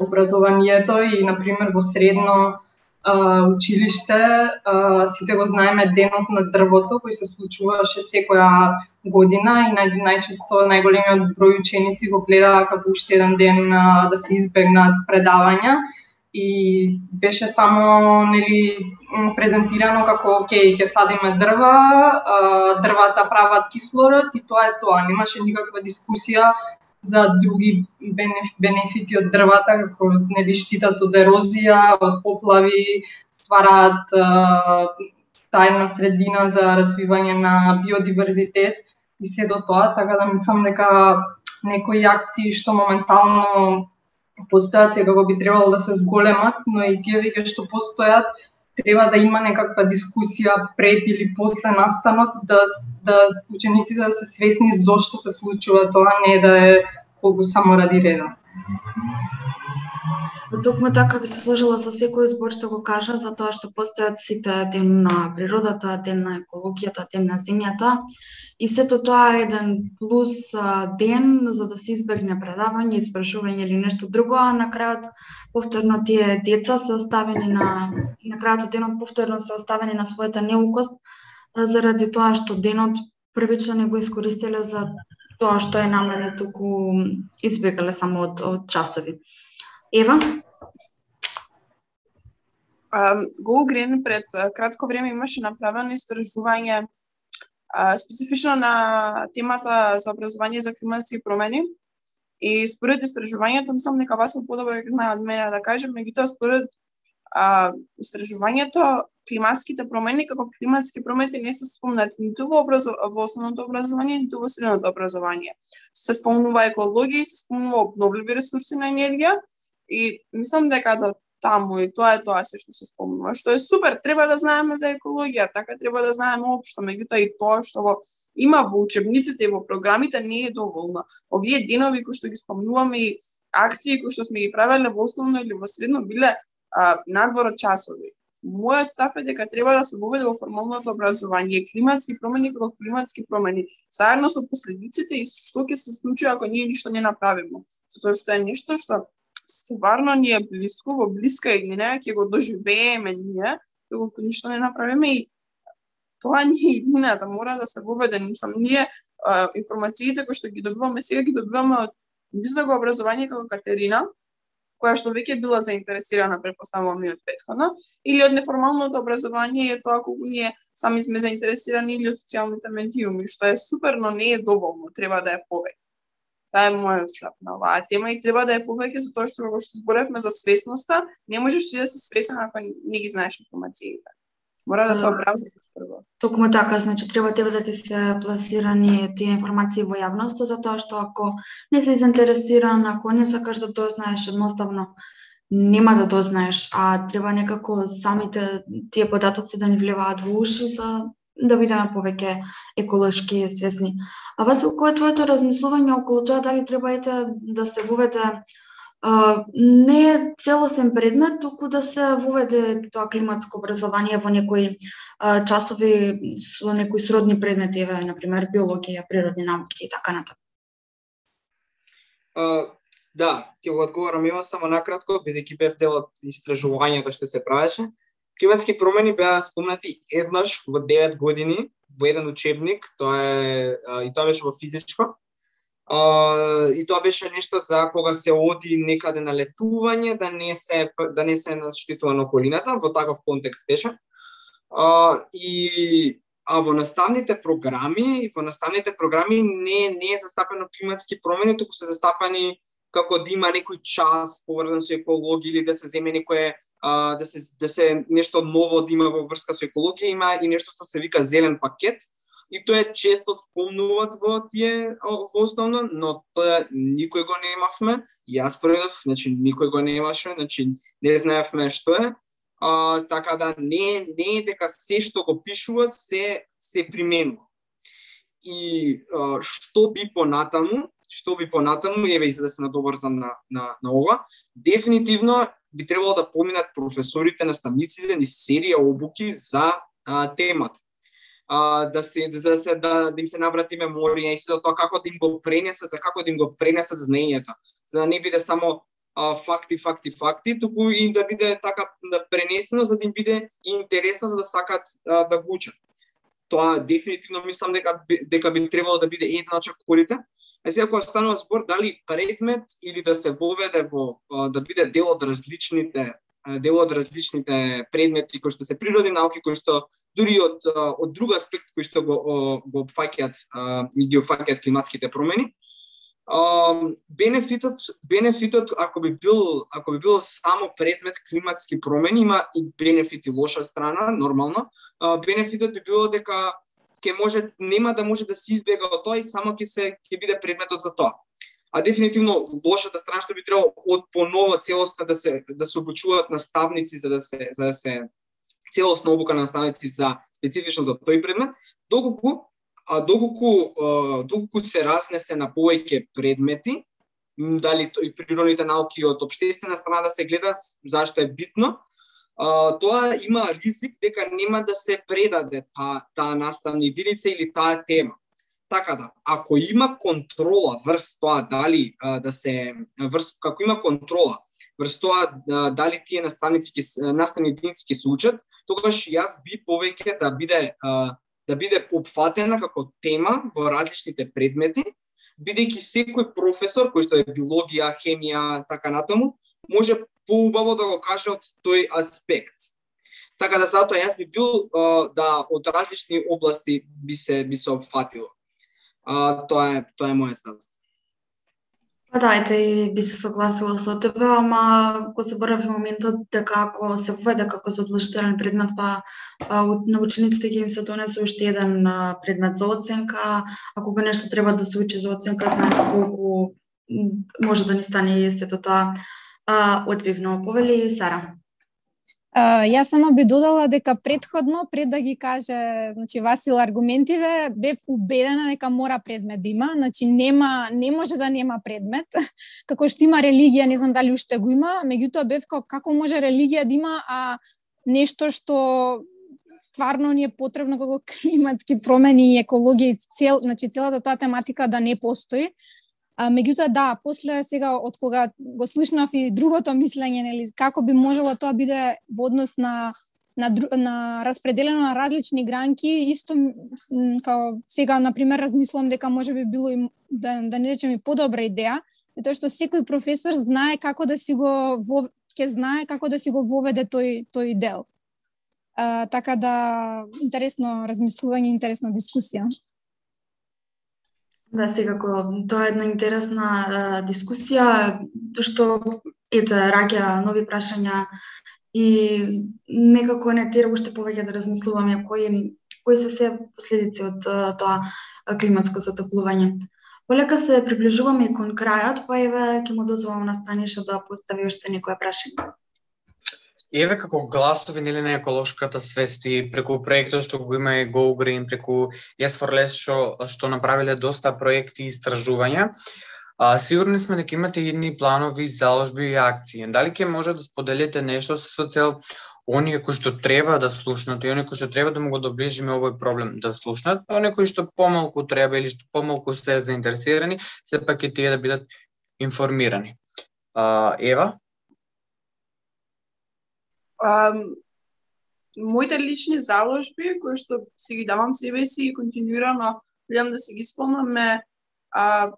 образованието и, например, во средно а, училиште а, сите го знаеме денот на дрвото, кој се случуваше секоја година и нај, најчесто најголемиот број ученици го гледаа како уште еден ден а, да се избегнат предавања и беше само нели презентирано како окей, ќе садиме дрва, а, дрвата прават кислород и тоа е тоа. Немаше никаква дискусија за други бенефити од дрвата, како нели штитат од ерозија, од поплави, ствараат тајна средина за развивање на биодиверзитет и се до тоа, така да мислам дека некои акции што моментално постојат сега би требало да се зголемат, но и тие веќе што постојат треба да има некаква дискусија пред или после настанот, да, да учениците да се свесни зошто се случува тоа, не да е колку само ради реда. Токму така би се сложила со секој збор што го кажа, за тоа што постојат сите ден на природата, ден на екологијата, ден на земјата, и сето тоа е еден плюс ден за да се избегне предавање, испрашување или нешто друго, а на крајот повторно тие деца се оставени на на крајот од денот повторно се оставени на својата неукост заради тоа што денот првично не го искористиле за тоа што е намерено, туку избегале само од, од часови. Ева? Go Green пред кратко време имаше направено истражување специфично на темата за образование за климатски промени. И според истражувањето, мислам дека вас е подобро дека знае од мене да кажем, меѓутоа според а, истражувањето, климатските промени како климатски промени не се спомнати ниту во, образов... во основното образование, ниту во средното образование. Се спомнува екологија, се спомнува обновливи ресурси на енергија и мислам дека до таму и тоа е тоа се што се спомнува, што е супер, треба да знаеме за екологија, така треба да знаеме општо, меѓутоа и тоа што во има во учебниците и во програмите не е доволно. Овие денови кои што ги спомнуваме и акции кои што сме ги правеле во основно или во средно биле а, надвор од часови. Мојот став е дека треба да се воведе во формалното образование климатски промени како климатски промени, заедно со последиците и што ќе се случи ако ние ништо не направиме. Затоа што е нешто што стварно ни е блиско, во блиска иднина, ќе го доживееме ние, доколку ништо не направиме и тоа ни е иднината, мора да се воведе. Мислам, ние а, информациите кои што ги добиваме сега ги добиваме од високо образование како Катерина, која што веќе била заинтересирана, претпоставувам и од претходно, или од неформалното образование, тоа колку ние сами сме заинтересирани, или од социјалните медиуми, што е супер, но не е доволно, треба да е повеќе. Тоа е мојот став на оваа тема и треба да е повеќе за тоа што кога што зборевме за свесноста, не можеш ти да се свесен ако не ги знаеш информациите. Мора да се образуваш прво. Токму така, значи треба тебе да ти се пласирани тие информации во јавноста, затоа што ако не си заинтересиран, ако не сакаш да дознаеш, едноставно нема да дознаеш, а треба некако самите тие податоци да ни влеваат во уши за да бидеме повеќе еколошки свесни. А Васил, кој е твоето размислување околу тоа дали треба ете да се воведе а, не целосен предмет, туку да се воведе тоа климатско образование во некои а, часови со некои сродни предмети, еве на пример биологија, природни науки и така натаму? Uh, да, ќе го одговорам ева само накратко, бидејќи бев дел од истражувањето што се правеше. Климатски промени беа спомнати еднаш во девет години во еден учебник, тоа е и тоа беше во физичко. А, и тоа беше нешто за кога се оди некаде на летување, да не се да не се наштетува на околината, во таков контекст беше. А, и а во наставните програми, во наставните програми не не е застапено климатски промени, туку се застапани како да има некој час поврзан со екологија или да се земе некое Uh, да се да се нешто ново да има во врска со екологија, има и нешто што се вика зелен пакет и тоа е често спомнуваат во тие во основно, но тоа никој го немавме. Јас првдев, значи никој го немаше, значи не знаевме што е. Uh, така да не не е дека се што го пишува се се применува. И uh, што би понатаму, што би понатаму, еве и за да се надоврзам на на на ова, дефинитивно би требало да поминат професорите, наставниците ни серија обуки за а, темата. А, да се да се да, да им се набрати меморија и се тоа како да им го пренесат, за како да им го пренесат знаењето, за да не биде само а, факти, факти, факти, туку и да биде така да пренесено, за да им биде интересно за да сакат а, да го учат. Тоа дефинитивно мислам дека дека би требало да биде една од чакорите. А сега кога станува збор дали предмет или да се воведе во да биде дел од различните дел од различните предмети кои што се природни науки, кои што дури од од друг аспект кои што го го опфаќаат и ги опфаќаат климатските промени. Uh, бенефитот бенефитот ако би бил ако би бил само предмет климатски промени, има и бенефит и лоша страна, нормално. Uh, бенефитот би било дека ќе може нема да може да се избега од тоа и само ќе се ќе биде предметот за тоа. А дефинитивно лошата страна што би требало од поново целосно да се да се обучуваат наставници за да се за да се целосна обука на наставници за специфично за тој предмет, доколку а доколку доколку се разнесе на повеќе предмети, дали тој природните науки од општествена страна да се гледа зашто е битно, а, тоа има ризик дека нема да се предаде таа таа наставна единица или таа тема. Така да, ако има контрола врз тоа дали а, да се врз како има контрола врз тоа а, дали тие наставници ќе наставни единици ќе се учат, тогаш јас би повеќе да биде а, да биде опфатена како тема во различните предмети, бидејќи секој професор кој што е биологија, хемија, така натаму, може поубаво да го каже од тој аспект. Така да затоа јас би бил а, да од различни области би се би се опфатило. А, тоа е тоа е мојот став. Па да, ете, и би се согласила со тебе, ама го заборавив моментот дека ако се введе како задолжителен предмет, па, па на учениците ќе им се донесе уште еден предмет за оценка, а кога нешто треба да се учи за оценка, знаеме колку може да ни стане и сето тоа одбивно. Повели Сара. Uh, јас само би додала дека претходно, пред да ги каже, значи Васил аргументиве, бев убедена дека мора предмет да има, значи нема не може да нема предмет. Како што има религија, не знам дали уште го има, меѓутоа бев како како може религија да има, а нешто што стварно ни е потребно како климатски промени и екологија и цел, значи целата таа тематика да не постои. А, меѓутоа да, после сега од кога го слушнав и другото мислење, нели, како би можело тоа биде во однос на на, на распределено на различни гранки, исто као сега на пример размислувам дека може би било и да да не речем и подобра идеја, тоа што секој професор знае како да си го во, ќе знае како да си го воведе тој тој дел. А, така да интересно размислување, интересна дискусија. Да, секако, тоа е една интересна а, дискусија, што ете раѓа нови прашања и некако не тера уште повеќе да размислуваме кои кои се се последици од а, тоа климатско затоплување. Полека се приближуваме кон крајот, па еве ќе му дозволам на Станиша да постави уште некоја прашање. Еве како гласови нели на еколошката свест и преку проектот што го има и Go Green, преку Yes for Less што што направиле доста проекти и истражувања. А, сигурни сме дека имате едни планови, заложби и акции. Дали ќе може да споделите нешто со цел оние кои што треба да слушнат и оние кои што треба да му го доближиме овој проблем да слушнат, а оние кои што помалку треба или што помалку се заинтересирани, сепак и тие да бидат информирани. А, Ева? Um, моите лични заложби, кои што си ги давам себе си и континуирано гледам да се ги спомнам е а,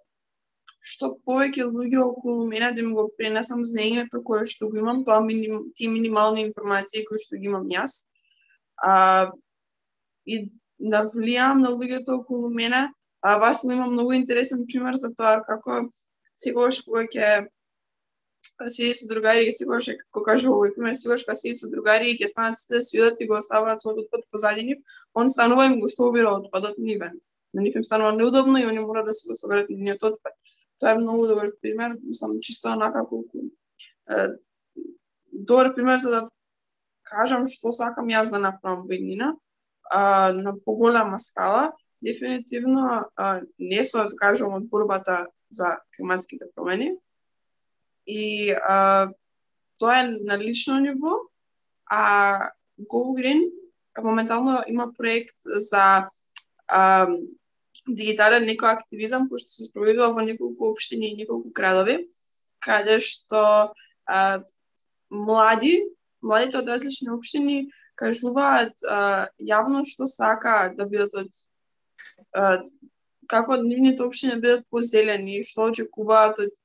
што повеќе луѓе околу мене да ми го пренесам знаењето кое што го имам, тоа миним, тие минимални информации кои што ги имам јас. А, и да влијам на луѓето околу мене. А, Васил има многу интересен пример за тоа како секогаш кога ќе седи со другари и секогаш како кажа овој пример, секогаш кога седи со другари и ќе станат сите да свидат и го оставаат својот отпад позади нив, он станува им го собира отпадот нивен. На нив им станува неудобно и они мора да се го соберат нивниот отпад. Тоа е многу добар пример, сам чисто онака колку е, добар пример за да кажам што сакам јас да направам во иднина, а, на поголема скала. Дефинитивно а, не се откажувам од борбата за климатските промени. И а, тоа е на лично ниво, а Go Green моментално има проект за а, дигитален екоактивизам, кој што се спроведува во неколку општини и неколку градови, каде што а, млади, младите од различни општини кажуваат а, јавно што сака да бидат од а, како нивните општини бидат позелени, што очекуваат од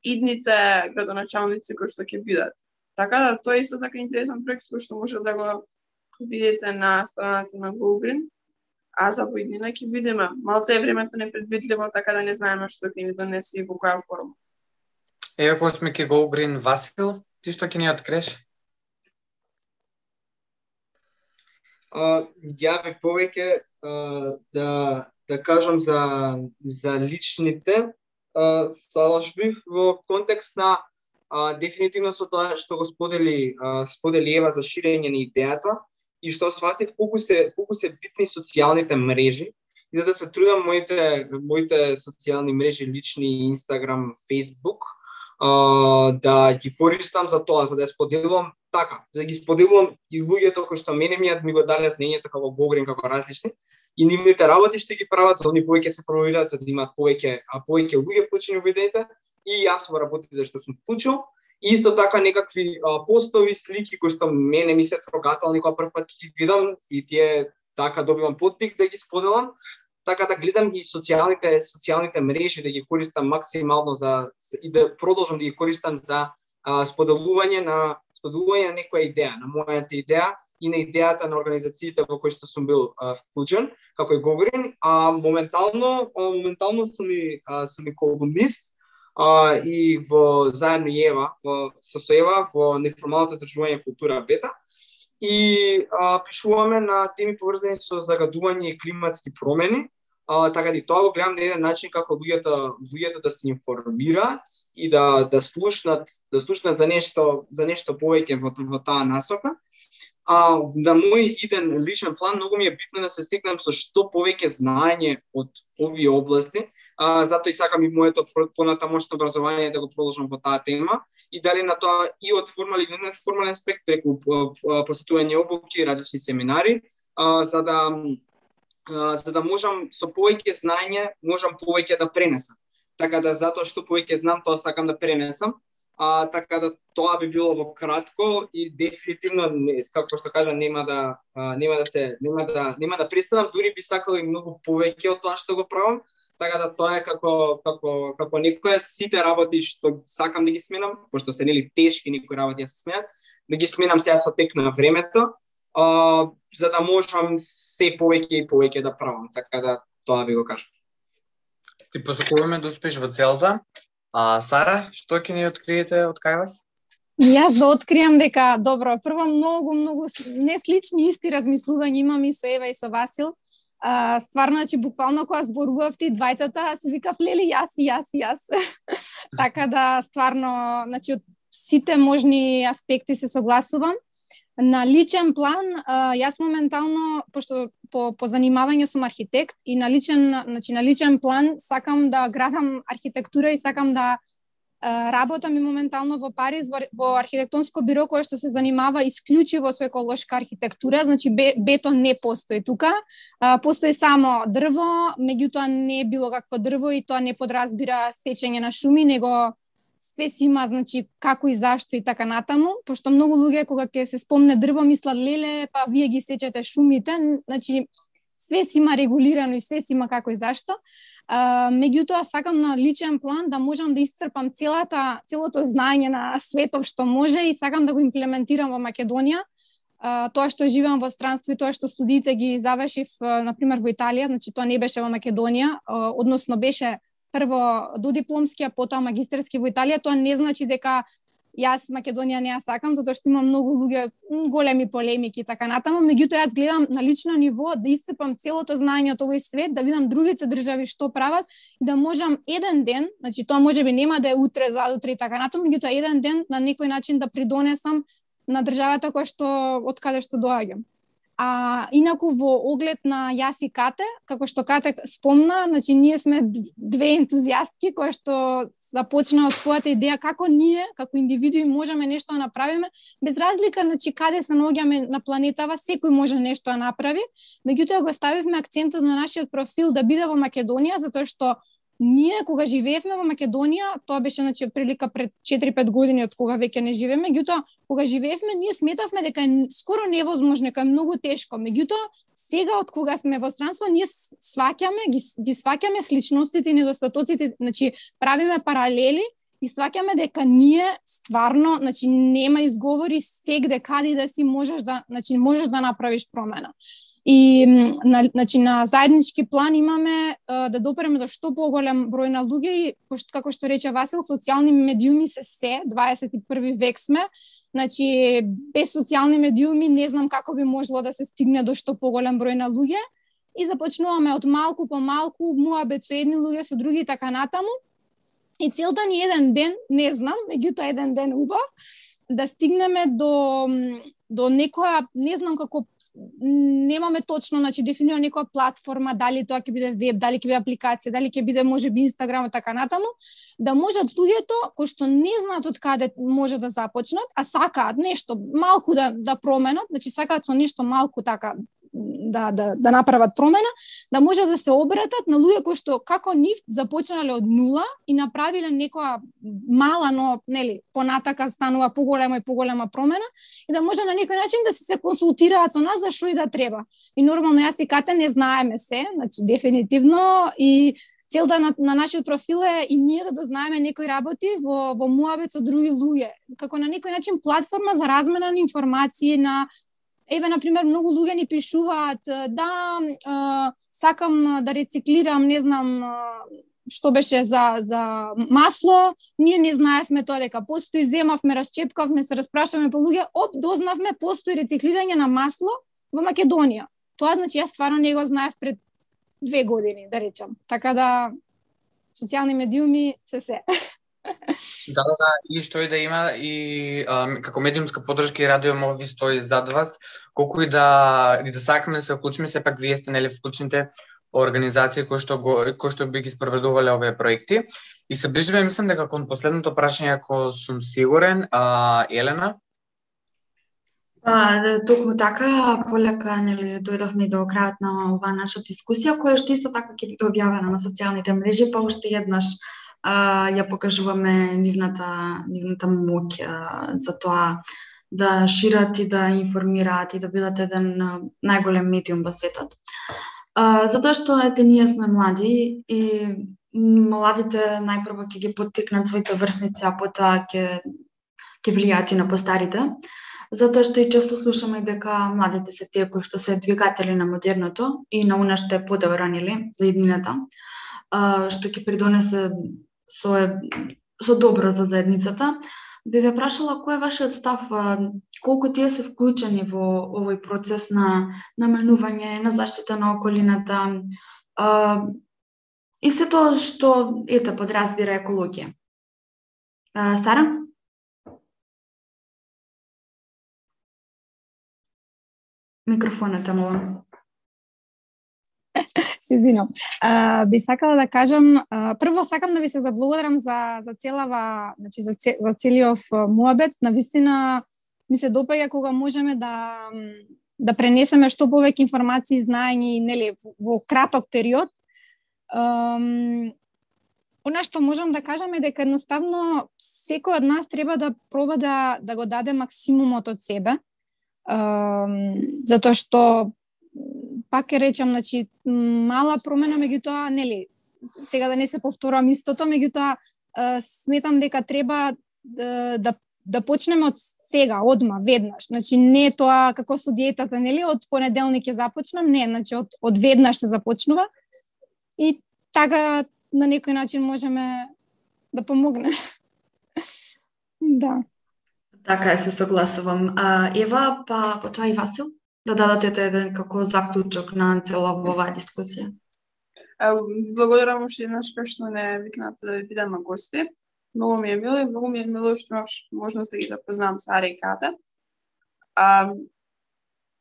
идните градоначалници кои што ќе бидат. Така да тоа е исто така интересен проект кој што може да го видите на страната на Go Green. А за поиднина ќе видиме. Малце е времето непредвидливо, така да не знаеме што ќе ни донесе и во која форма. Ева, кога сме ке Go Green, Васил, ти што ќе ни откриеш? Uh, ја би повеќе uh, да да кажам за за личните uh, салажби во контекст на uh, дефинитивно со тоа што го сподели uh, сподели Ева за ширење на идејата и што сватив колку се колку се битни социјалните мрежи и за да се трудам моите моите социјални мрежи лични Инстаграм, Фејсбук uh, да ги користам за тоа, за да ја споделувам така, за да ги споделувам и луѓето кои што мене ми ми го дале знаењето како Go Green, како различни и нивните работи што ги прават, за да они повеќе се промовираат, за да имаат повеќе а повеќе луѓе вклучени во идеите и јас во работите што сум вклучил. И исто така некакви а, постови, слики кои што мене ми се трогателни кога прв пат ги видам и тие така добивам поттик да ги споделам. Така да гледам и социјалните социјалните мрежи да ги користам максимално за и да продолжам да ги користам за а, споделување на споделување на некоја идеја, на мојата идеја и на идејата на организациите во кои што сум бил а, вклучен, како и Go Green, а моментално а, моментално сум и а, сум и колумнист а, и во заедно Ева, во со Ева во неформалното здружување Култура Бета и а, пишуваме на теми поврзани со загадување и климатски промени. А, така да и тоа го гледам на еден начин како луѓето луѓето да се информираат и да да слушнат да слушнат за нешто за нешто повеќе во во таа насока. А на мој иден личен план многу ми е битно да се стекнам со што повеќе знаење од овие области. А, затоа и сакам и моето понатамошно образование да го продолжам во таа тема и дали на тоа и од формален и неформален аспект преку посетување обуки, различни семинари, а, за да Uh, за да можам со повеќе знаење, можам повеќе да пренесам. Така да затоа што повеќе знам, тоа сакам да пренесам. А, така да тоа би било во кратко и дефинитивно не, како што кажа нема да а, нема да се нема да нема да престанам, дури би сакал и многу повеќе од тоа што го правам. Така да тоа е како како како некоја сите работи што сакам да ги сменам, пошто се нели тешки некои работи да се сменат, да ги сменам сега со тек на времето. Uh, за да можам се повеќе и повеќе да правам, така да тоа би го кажам. Ти посакуваме да успеш во целта. А Сара, што ќе ни откриете од кај вас? Јас да откриам дека добро, прво многу многу не слични исти размислувања имам и со Ева и со Васил. А, стварно, значи буквално кога зборувавте двајтата, се викав лели јас и јас и јас. Така да стварно, значи од сите можни аспекти се согласувам. На личен план, јас моментално, пошто по, по занимавање сум архитект и на личен, значи на личен план сакам да градам архитектура и сакам да работам и моментално во Париз во, во архитектонско биро кое што се занимава исклучиво со еколошка архитектура, значи бетон не постои тука, постои само дрво, меѓутоа не е било какво дрво и тоа не подразбира сечење на шуми, него све си има, значи, како и зашто и така натаму, пошто многу луѓе кога ќе се спомне дрво мислат леле, па вие ги сечете шумите, значи све си има регулирано и све си има како и зашто. А, меѓутоа сакам на личен план да можам да исцрпам целата целото знаење на светот што може и сакам да го имплементирам во Македонија. А, тоа што живеам во странство и тоа што студиите ги завршив на пример во Италија, значи тоа не беше во Македонија, а, односно беше прво додипломски, а потоа магистерски во Италија. Тоа не значи дека јас Македонија не ја сакам, затоа што има многу луѓе, големи полемики и така натаму, меѓутоа јас гледам на лично ниво да исцрпам целото знаење од овој свет, да видам другите држави што прават и да можам еден ден, значи тоа можеби нема да е утре, задутре и така натаму, меѓутоа еден ден на некој начин да придонесам на државата која што од каде што доаѓам. А инаку во оглед на јас и Кате, како што Кате спомна, значи ние сме две ентузијастки кои што започна од својата идеја како ние, како индивидуи можеме нешто да направиме, без разлика значи каде се наоѓаме на планетава, секој може нешто да направи. Меѓутоа го ставивме акцентот на нашиот профил да биде во Македонија, затоа што ние кога живеевме во Македонија, тоа беше значи прилика пред четири-пет години од кога веќе не живееме, меѓутоа кога живеевме ние сметавме дека е скоро невозможно, дека е многу тешко. Меѓутоа сега од кога сме во странство ние сваќаме ги, ги сваќаме сличностите и недостатоците, значи правиме паралели и сваќаме дека ние стварно, значи нема изговори сегде каде да си можеш да, значи можеш да направиш промена. И на, значи, на заеднички план имаме а, да допреме до што поголем број на луѓе и, пошто, како што рече Васил, социјални медиуми се се, дваесет и први век сме, значи без социјални медиуми не знам како би можело да се стигне до што поголем број на луѓе и започнуваме од малку по малку, муабет со едни луѓе, со други и така натаму. И целта ни еден ден, не знам, меѓутоа еден ден убав, да стигнеме до до некоја, не знам како, немаме точно, значи дефинира некоја платформа, дали тоа ќе биде веб, дали ќе биде апликација, дали ќе биде можеби Инстаграм и така натаму, да можат луѓето кои што не знаат од каде може да започнат, а сакаат нешто малку да да променат, значи сакаат со нешто малку така да да да направат промена, да може да се обратат на луѓе кои што како нив започнале од нула и направиле некоја мала, но нели понатака станува поголема и поголема промена и да може на некој начин да се, се консултираат со нас за што и да треба. И нормално јас и Кате не знаеме се, значи дефинитивно и целта на, на нашиот профил е и ние да дознаеме некои работи во во муабет со други луѓе, како на некој начин платформа за размена на информации, на еве на пример многу луѓе ни пишуваат да а, сакам да рециклирам, не знам што беше за за масло, ние не знаевме тоа дека постои, земавме, расчепкавме, се распрашаме по луѓе, оп, дознавме постои рециклирање на масло во Македонија. Тоа значи јас стварно не го знаев пред две години, да речам. Така да социјални медиуми се се. Да, да, да, и што и да има и а, како медиумска поддршка и Радио Мови стои зад вас, колку и да и да сакаме да се вклучиме, сепак вие сте нели вклучените организации кои што го кои што би ги спроведувале овие проекти. И се ближиме, мислам дека кон последното прашање, ако сум сигурен, а Елена. Па, токму така, полека, нели, дојдовме до крајот на оваа наша дискусија, која што исто така ќе биде објавена на социјалните мрежи, па уште еднаш а, ја покажуваме нивната, нивната моќ а, за тоа да шират и да информираат и да бидат еден најголем медиум во светот. А, затоа што ете ние сме млади и младите најпрво ќе ги поттикнат своите врсници, а потоа ќе ќе влијаат и на постарите. Затоа што и често слушаме дека младите се тие кои што се двигатели на модерното и на она што е подобро нели за иднината, што ќе придонесе со со добро за заедницата. Би ве прашала кој е вашиот став, колку тие се вклучени во овој процес на наменување, на заштита на околината и се тоа што ете подразбира екологија. Сара? Микрофонот, молам. Се извинувам. Би сакала да кажам, а, прво сакам да ви се заблагодарам за за целава, значи за, цел, за целиот муабет. Навистина ми се допаѓа кога можеме да да пренесеме што повеќе информации и знаења, нели, во краток период. Um, Она што можам да кажам е дека едноставно секој од нас треба да проба да да го даде максимумот од себе. Uh, затоа што пак ќе речам, значи мала промена, меѓутоа нели сега да не се повторувам истото, меѓутоа uh, сметам дека треба да, да да почнеме од сега, одма, веднаш. Значи не тоа како со диетата, нели, од понеделник ќе започнам, не, значи од од веднаш се започнува. И така на некој начин можеме да помогнеме. Да. Така е, се согласувам. А, Ева, па потоа и Васил, да дадете еден како заклучок на цела оваа дискусија. Благодарам уште еднаш што не викнате да ви бидеме гости. Многу ми е мило и многу ми е мило што имаш можност да ги запознам Сара и Ката. А,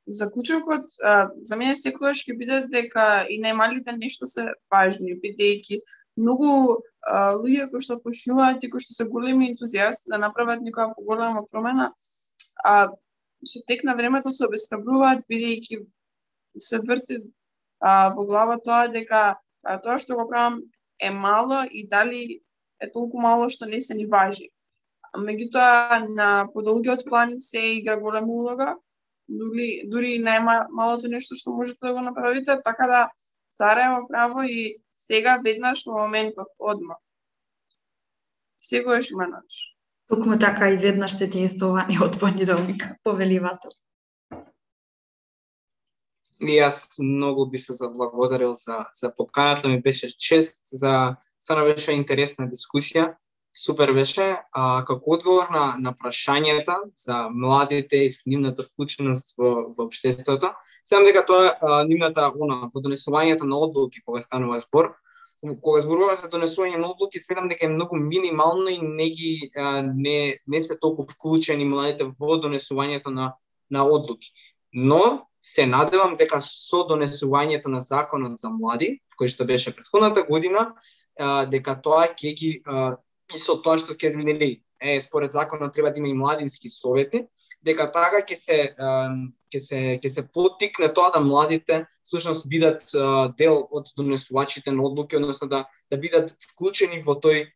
заклучокот а, за мене секогаш ќе биде дека и најмалите нешто се важни, бидејќи многу а, луѓе кои што почнуваат и кои што се големи ентузијасти да направат некоја поголема промена, а со тек на времето се обесхрабруваат, бидејќи се врти а, во глава тоа дека а, тоа што го правам е мало и дали е толку мало што не се ни важи. Меѓутоа на подолгиот план се игра голема улога, дури дури најмалото нешто што можете да го направите, така да Сара има право и сега веднаш во моментот одма. Секогаш има начин. Токму така и веднаш сте единствувани од понеделник, повели Васил. И јас многу би се заблагодарил за за поканата, ми беше чест, за стварно беше интересна дискусија. Супер беше. А, како одговор на, на прашањата за младите и нивната вклученост во, во општеството, сеам дека тоа е нивната она, во донесувањето на одлуки, кога станува збор, кога зборуваме за донесување на одлуки, сметам дека е многу минимално и не ги а, не не се толку вклучени младите во донесувањето на на одлуки. Но се надевам дека со донесувањето на законот за млади, кој што беше претходната година, а, дека тоа ќе ги а, и со тоа што ќе нели е според законот треба да има и младински совети, дека така ќе се ќе се ќе се поттикне тоа да младите всушност бидат дел од донесувачите на одлуки, односно да да бидат вклучени во тој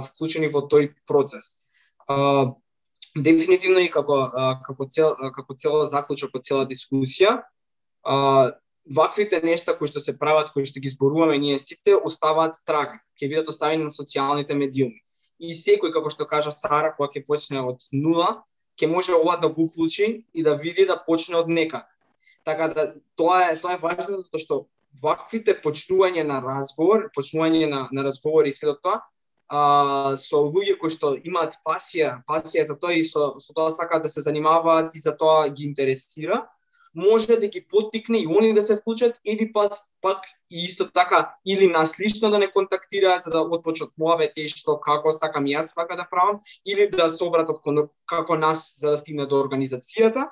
вклучени во тој процес. Дефинитивно и како како цел како цела заклучок од цела дискусија, ваквите нешта кои што се прават, кои што ги зборуваме ние сите, оставаат трага, ќе бидат оставени на социјалните медиуми. И секој, како што кажа Сара, кога ќе почне од нула, ќе може ова да го уклучи и да види да почне од некак. Така да тоа е тоа е важно, затоа што ваквите почнување на разговор, почнување на на разговори и сето тоа, а, со луѓе кои што имаат пасија, пасија за тоа и со со тоа сакаат да се занимаваат и за тоа ги интересира, може да ги поттикне и они да се вклучат или пак пак и исто така или нас лично да не контактираат за да отпочнат муабети и што како сакам јас вака да правам, или да се обратат како нас за да стигне до организацијата.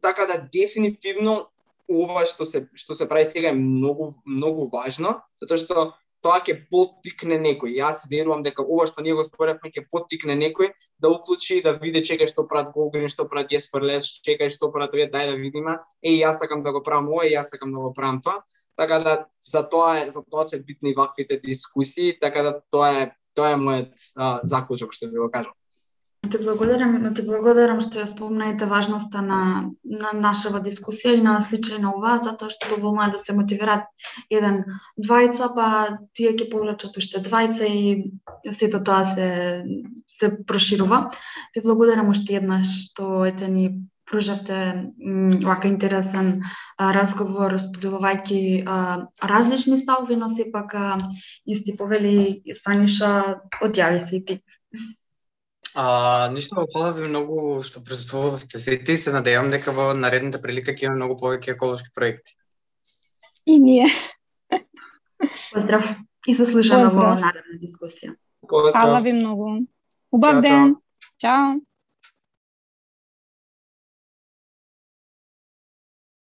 Така да дефинитивно ова што се што се прави сега е многу многу важно, затоа што тоа ќе поттикне некој. Јас верувам дека ова што ние го споревме ќе поттикне некој да уклучи, да види чекај што прават Голгрин, што прават Јеспер Лес, чекај што прават овие, дај да видиме. Еј, јас сакам да го правам ова, јас сакам да го правам тоа. Така да за тоа е за тоа се битни ваквите дискусии, така да тоа е тоа е мојот а, заклучок што би го кажал. Ти благодарам, ти благодарам што ја спомнаете важноста на на нашава дискусија и на сличај на ова, затоа што доволно е да се мотивираат еден двајца, па тие ќе повлечат уште двајца и сето тоа се се проширува. Ви благодарам уште еднаш што ете ни пружавте вака интересен а, разговор, споделувајќи а, различни ставови, но сепак исти повели Станиша, одјави се и ти. А, ништо, фала ви многу што присуствувавте сите и се надевам дека во наредната прилика ќе има многу повеќе еколошки проекти. И ние. Поздрав и се слушаме во наредна дискусија. Фала ви многу. Убав ден. Чао.